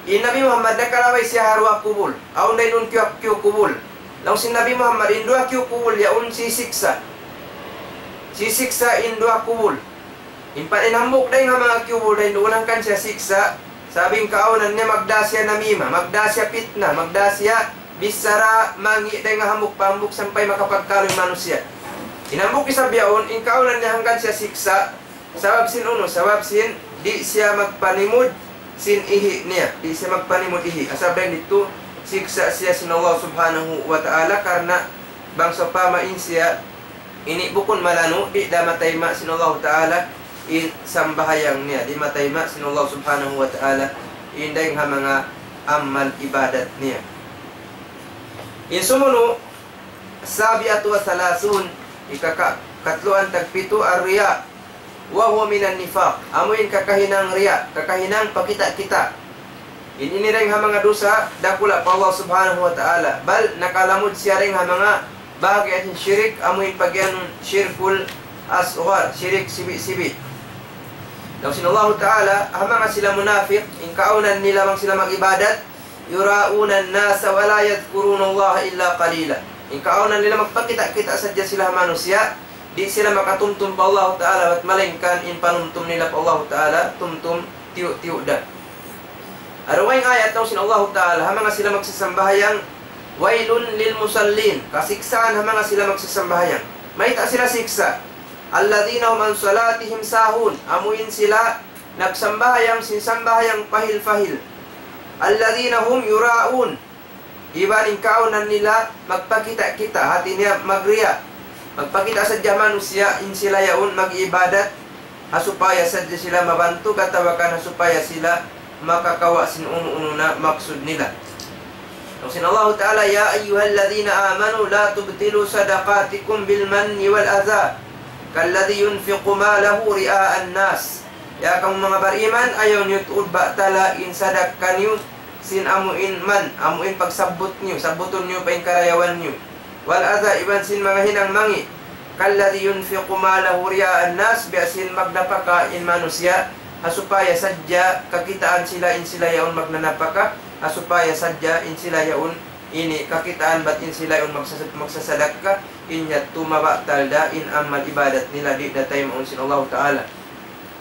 In Nabi Muhammad nakalabay siya ha duwa kubul. Awn dayn duun kiyukup kubul. Laung sin Nabi Muhammad, in duwa kiyukup kubul yaun sisiksa'. Sisiksa' in duwa kubul. In pa-, in hambuuk dayn ha manga kiyukup kubul dayn duun hangkan siya siksa'. Sabab in kaawnan niya magdā siya namima, magdā siya pitna, magdā siya bichara mangi' dayn ha hambuuk pa hambuuk sampay makapagkalu in manusiya'. In hambuuk isab yaun, in kaawnan niya hangkan siya siksa'. Sabab sin unu, sabab sin di' siya magpanimud sin ihi' niya. Di' siya magpanimud ihi'. Sabab dayn didtu siksa' siya sin Allah Subhanahu wa Ta'ala karna' bang sawpama in siya ini bukun malanu', di' da matayma' sin Allah Ta'ala in sambahayang niya. Di' matayma' sin Allah Subhanahu wa Ta'ala in dayn ha manga amal ibadat niya. In sumunu', السابعة والثلاثون, ika-, ka-, katluan tagpitu, الرياء وهو من النفاق. Amu in kakahinang riya', kakahinang pakita'-kita'. In ini dayn ha manga dusa dakula' pa Allah Subhanahu wa Ta'ala. Bal nakalamud siya dayn ha manga bahagi' sin shirik, amu in pagiyanun shirkul asghar, shirik sibi'-sibi'. Laung sin Allahu Ta'ala, ha manga sila munapik, in kaawnan nila bang sila mag-ibadat, يراءون الناس ولا يذكرون الله إلا قليلا. In kaawnan nila magpakita'-kita' sadja sila ha manusiya', di' sila makatumtum pa Allahu Ta'ala, bat malaingkan in panumtum nila pa Allahu Ta'ala, tumtum tiyu'-tiyu' da. Ha dugaing ayat laung sin Allahu Ta'ala, ha manga sila magsasambahayang, ويل للمصلين, kasiksaan ha manga sila magsasambahayang. Mayta' sila siksa'? الذين هم عن صلاتهم ساهون, amu in sila nagsambahayang sin sambahayang pahil-pahil. الذين هم يراءون, iban in kaawnan nila magpakita'-kita', hāti niya magriya'. Magpakita' sadja manusiya' in sila yaun mag-ibadat, ha supaya sadja sila mabantug atawa kan ha supaya sila makakawa' sin unu-unu na maksud nila. Laung sin Allahu Ta'ala, يا أيها الذين آمنوا لا تبطلوا صدقاتكم بالمن والأذى كالذي ينفق ماله رئاء الناس. Ya kamu manga bariman, ayaw niyu tuud batala in sadakka niyu sin amu in man, amu in pagsabbut niyu, sabbutun niyu pa in karayawan niyu. والأذى, iban sin manga hinang mangi'. كالذي ينفق ماله رئاء الناس, biya' sin magnapaka in manusiya', ha supaya sadja kakitaan sila in sila yaun magnanapaka, ha supaya sadja in sila yaun ini kakitaan bat in sila yaun magsasad-, magsasadakka, in yadtu mabatal da in amal ibadat nila, di' da taymaun sin Allahu Ta'ala.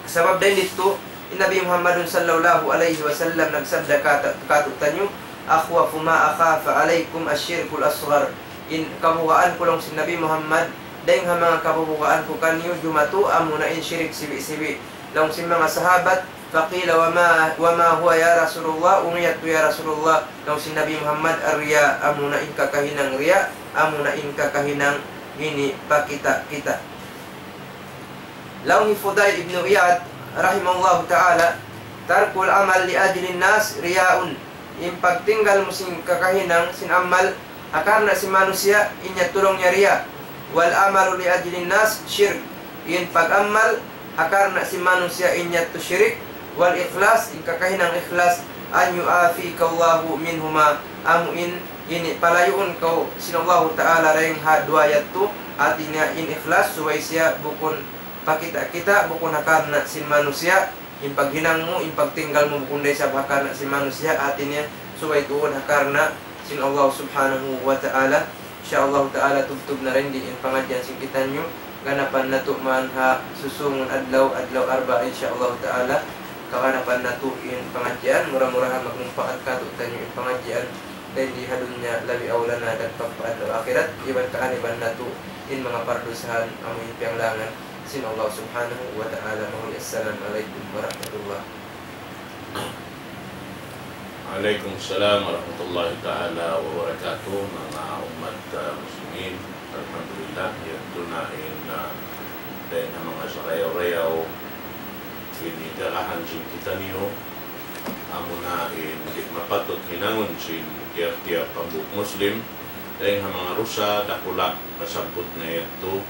Sabab dayn didtu, in Nabi Muhammadun sallallahu alayhi wasallam nagsabda kata-, katu'taniyu, أخوف ما أخاف عليكم الشرك الأصغر. In kabugaan ku laung sin Nabi Muhammad, dayn ha manga kabugaan ku kaniyu jumatu amuna in shirik sibi'-sibi'. Laung sin manga sahabat, فقيل وما، وما هو يا رسول الله؟ Unu yadtu ya Rasulullah? Laung sin Nabi Muhammad, الرياء, amuna in kakahinang riya', amuna in kakahinang ini pakita'-kita'. Laung hi Fudail ibn Iyad, rahimahullahu ta'ala, ترك العمل لأجل الناس رياء. In pagtinggal mu sin kakahinang sin amal ha karna' sin manusiya', in yadtu laung niya riya'. والعمل لأجل الناس شرك. In pag-amal ha karna' sin manusiya', in yadtu shirik. والإخلاص, in kakahinang ikhlas, أن يعافيك الله منهما. Amu in ini palayuun kaw sin Allahu Ta'ala dayn ha duwa yadtu, hāti niya in ikhlas, subay siya bukun pakita'-kita', bukun ha karna' sin manusiya', in paghinang mu, in pagtinggal mu, bukun da isab ha karna' sin manusiya', hāti niya subay tuud ha karna' sin Allah Subhanahu wa Ta'ala. Insya Allah Ta'ala, tubtub na dayn di in pangadjian sin kitaniyu. Ganapan natu' man ha susungun adlaw, adlaw Arba', insya Allah Ta'ala. Kaganapan natu' in pangadjian, mura-murahan magmumpaat katu'taniyu in pangadjian dayn di ha dunya, labi awla na dagpak pa adlaw akhirat, iban kaaniban natu' in manga pardusahan amu in piyanglangan sin Allah Subhanahu wa Ta'ala. Mahuli, assalamu alaykum warahmatullah. Alaykum salam warahmatullahi ta'ala wabarakatuh, manga ummat, ah, muslimin. Alhamdulillah, yadtu na in, ah, dayn ha manga sarayaw-rayaw ini darahan sin kitaniyu, amuna in di' mapatut hinangun sin tiyap-tiyap hambuuk Muslim, dayn ha manga dusa dakula' nasabbut na yadtu,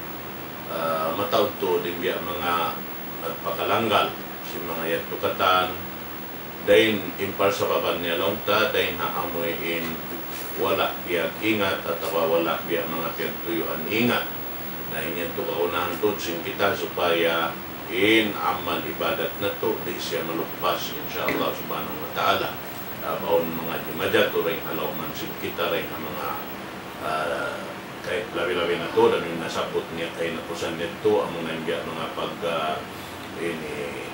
ah, mataud tuud in biya' manga nagpakalanggal sin manga yadtu katan, dayn in parsababan niya laung ta, dayn ha amuin wala' piyag-ingat atawa wala' biya' manga piyagtuyuan ingat. Na in yadtu kagunahan tuud sin kita supaya in amal ibadat natu' di' siya maluppas, insya Allah subhanahu wa ta'ala. Awn manga di' majatu dayn ha lawm sin kita dayn ha manga, ah, kay labi-labi na tuud, amu in nasabbut niya kahinapusan yadtu, amu na in biya' manga pag, ah, ini,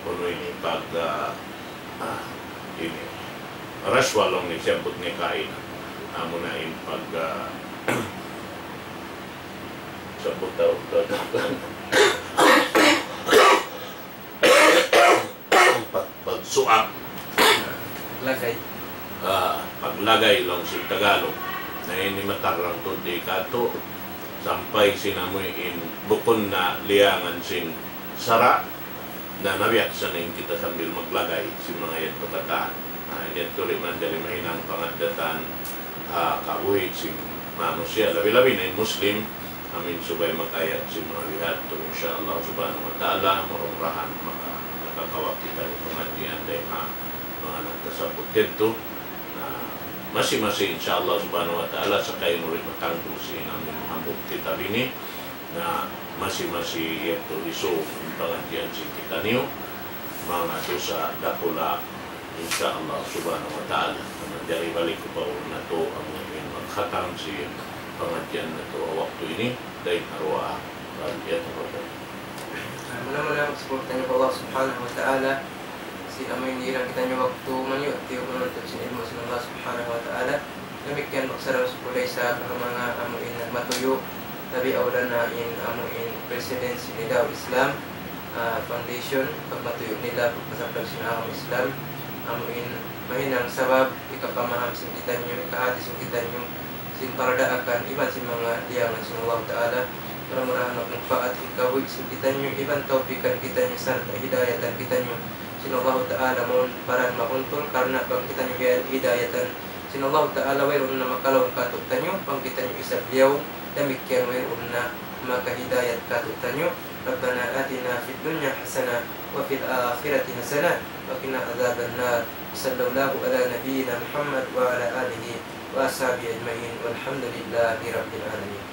unu ini, pag, ah, ah, ini, rashwa laung niya siyabbut niya kaina. Amu na in pag, ah, sabbut tau, tau, tau. Pag-, pagsuap. Lagay. Ah, paglagay laung sin Tagalog. Na ini matarrang tuud di katu', sampay sin amu in bukun na liyangan sin sara', na nabiyaksa na in kita sambil maglagay sin manga yadtu katan. Na, ini tuud manjari mahinang pangaddatan, ah, kabuhi' sin manusiya', labi-labi na in Muslim, amu in subay mag-ayat sin manga bihadtu, insya Allah subhanahu wa ta'ala, mura-murahan maka-, makakawa' kita sin pangadjian dayn ha manga nagtasabbut yadtu. Na, masi-masi, insya Allah subhanahu wa ta'ala, sakali mu ri matanggu sin amu in hambuuk kitab ini, na masi-masi yadtu isug in pangadjian sin kitaniyu, manga dusa dakula', insya Allah subhanahu wa ta'ala. Na manjari balik ku pa unu natu', amu in magkhatam sin pangadjian natu' ha waktu ini, dayn ha duwaa. Fal yatafaddal. Ah, muna-muna, magsukul kitaniyu pa Allah subhanahu wa ta'ala. Sin amu in hirang kitaniyu waktu maniyu'-tiyu' manuntut sin ilmu' sin Allah subhanahu wa ta'ala. Damikkiyan magsarang-sukul da isab ha manga amu in nagmatuyu', labi awla na in amu in President sin Nida Islam, ah, Foundation, pagmatuyu' nila pagpasaplag sin agama Islam, amu in mahinang sabab hikapamaham sin kitaniyu, hikahāti sin kitaniyu sin paradaakan iban sin manga liyangan sin Allah Ta'ala. Mura-murahan magmumpaat in kabuhi' sin kitaniyu iban tawpikan kitaniyu sarta' hidayatan kitaniyu sin Allah Ta'ala, mawn baran makuntul, karna' bang kitaniyu biya' hidayatan sin Allah Ta'ala, wayruun na makalaung kātu'niyu, bang kitaniyu isab liyaung, damikkiyan wayruun na makahidayat kātu'niyu. ربنا آتنا في الدنيا حسنة وفي الآخرة حسنة وقنا عذاب النار. وصلى الله على نبينا محمد وعلى آله وأصحابه أجمعين والحمد لله رب العالمين.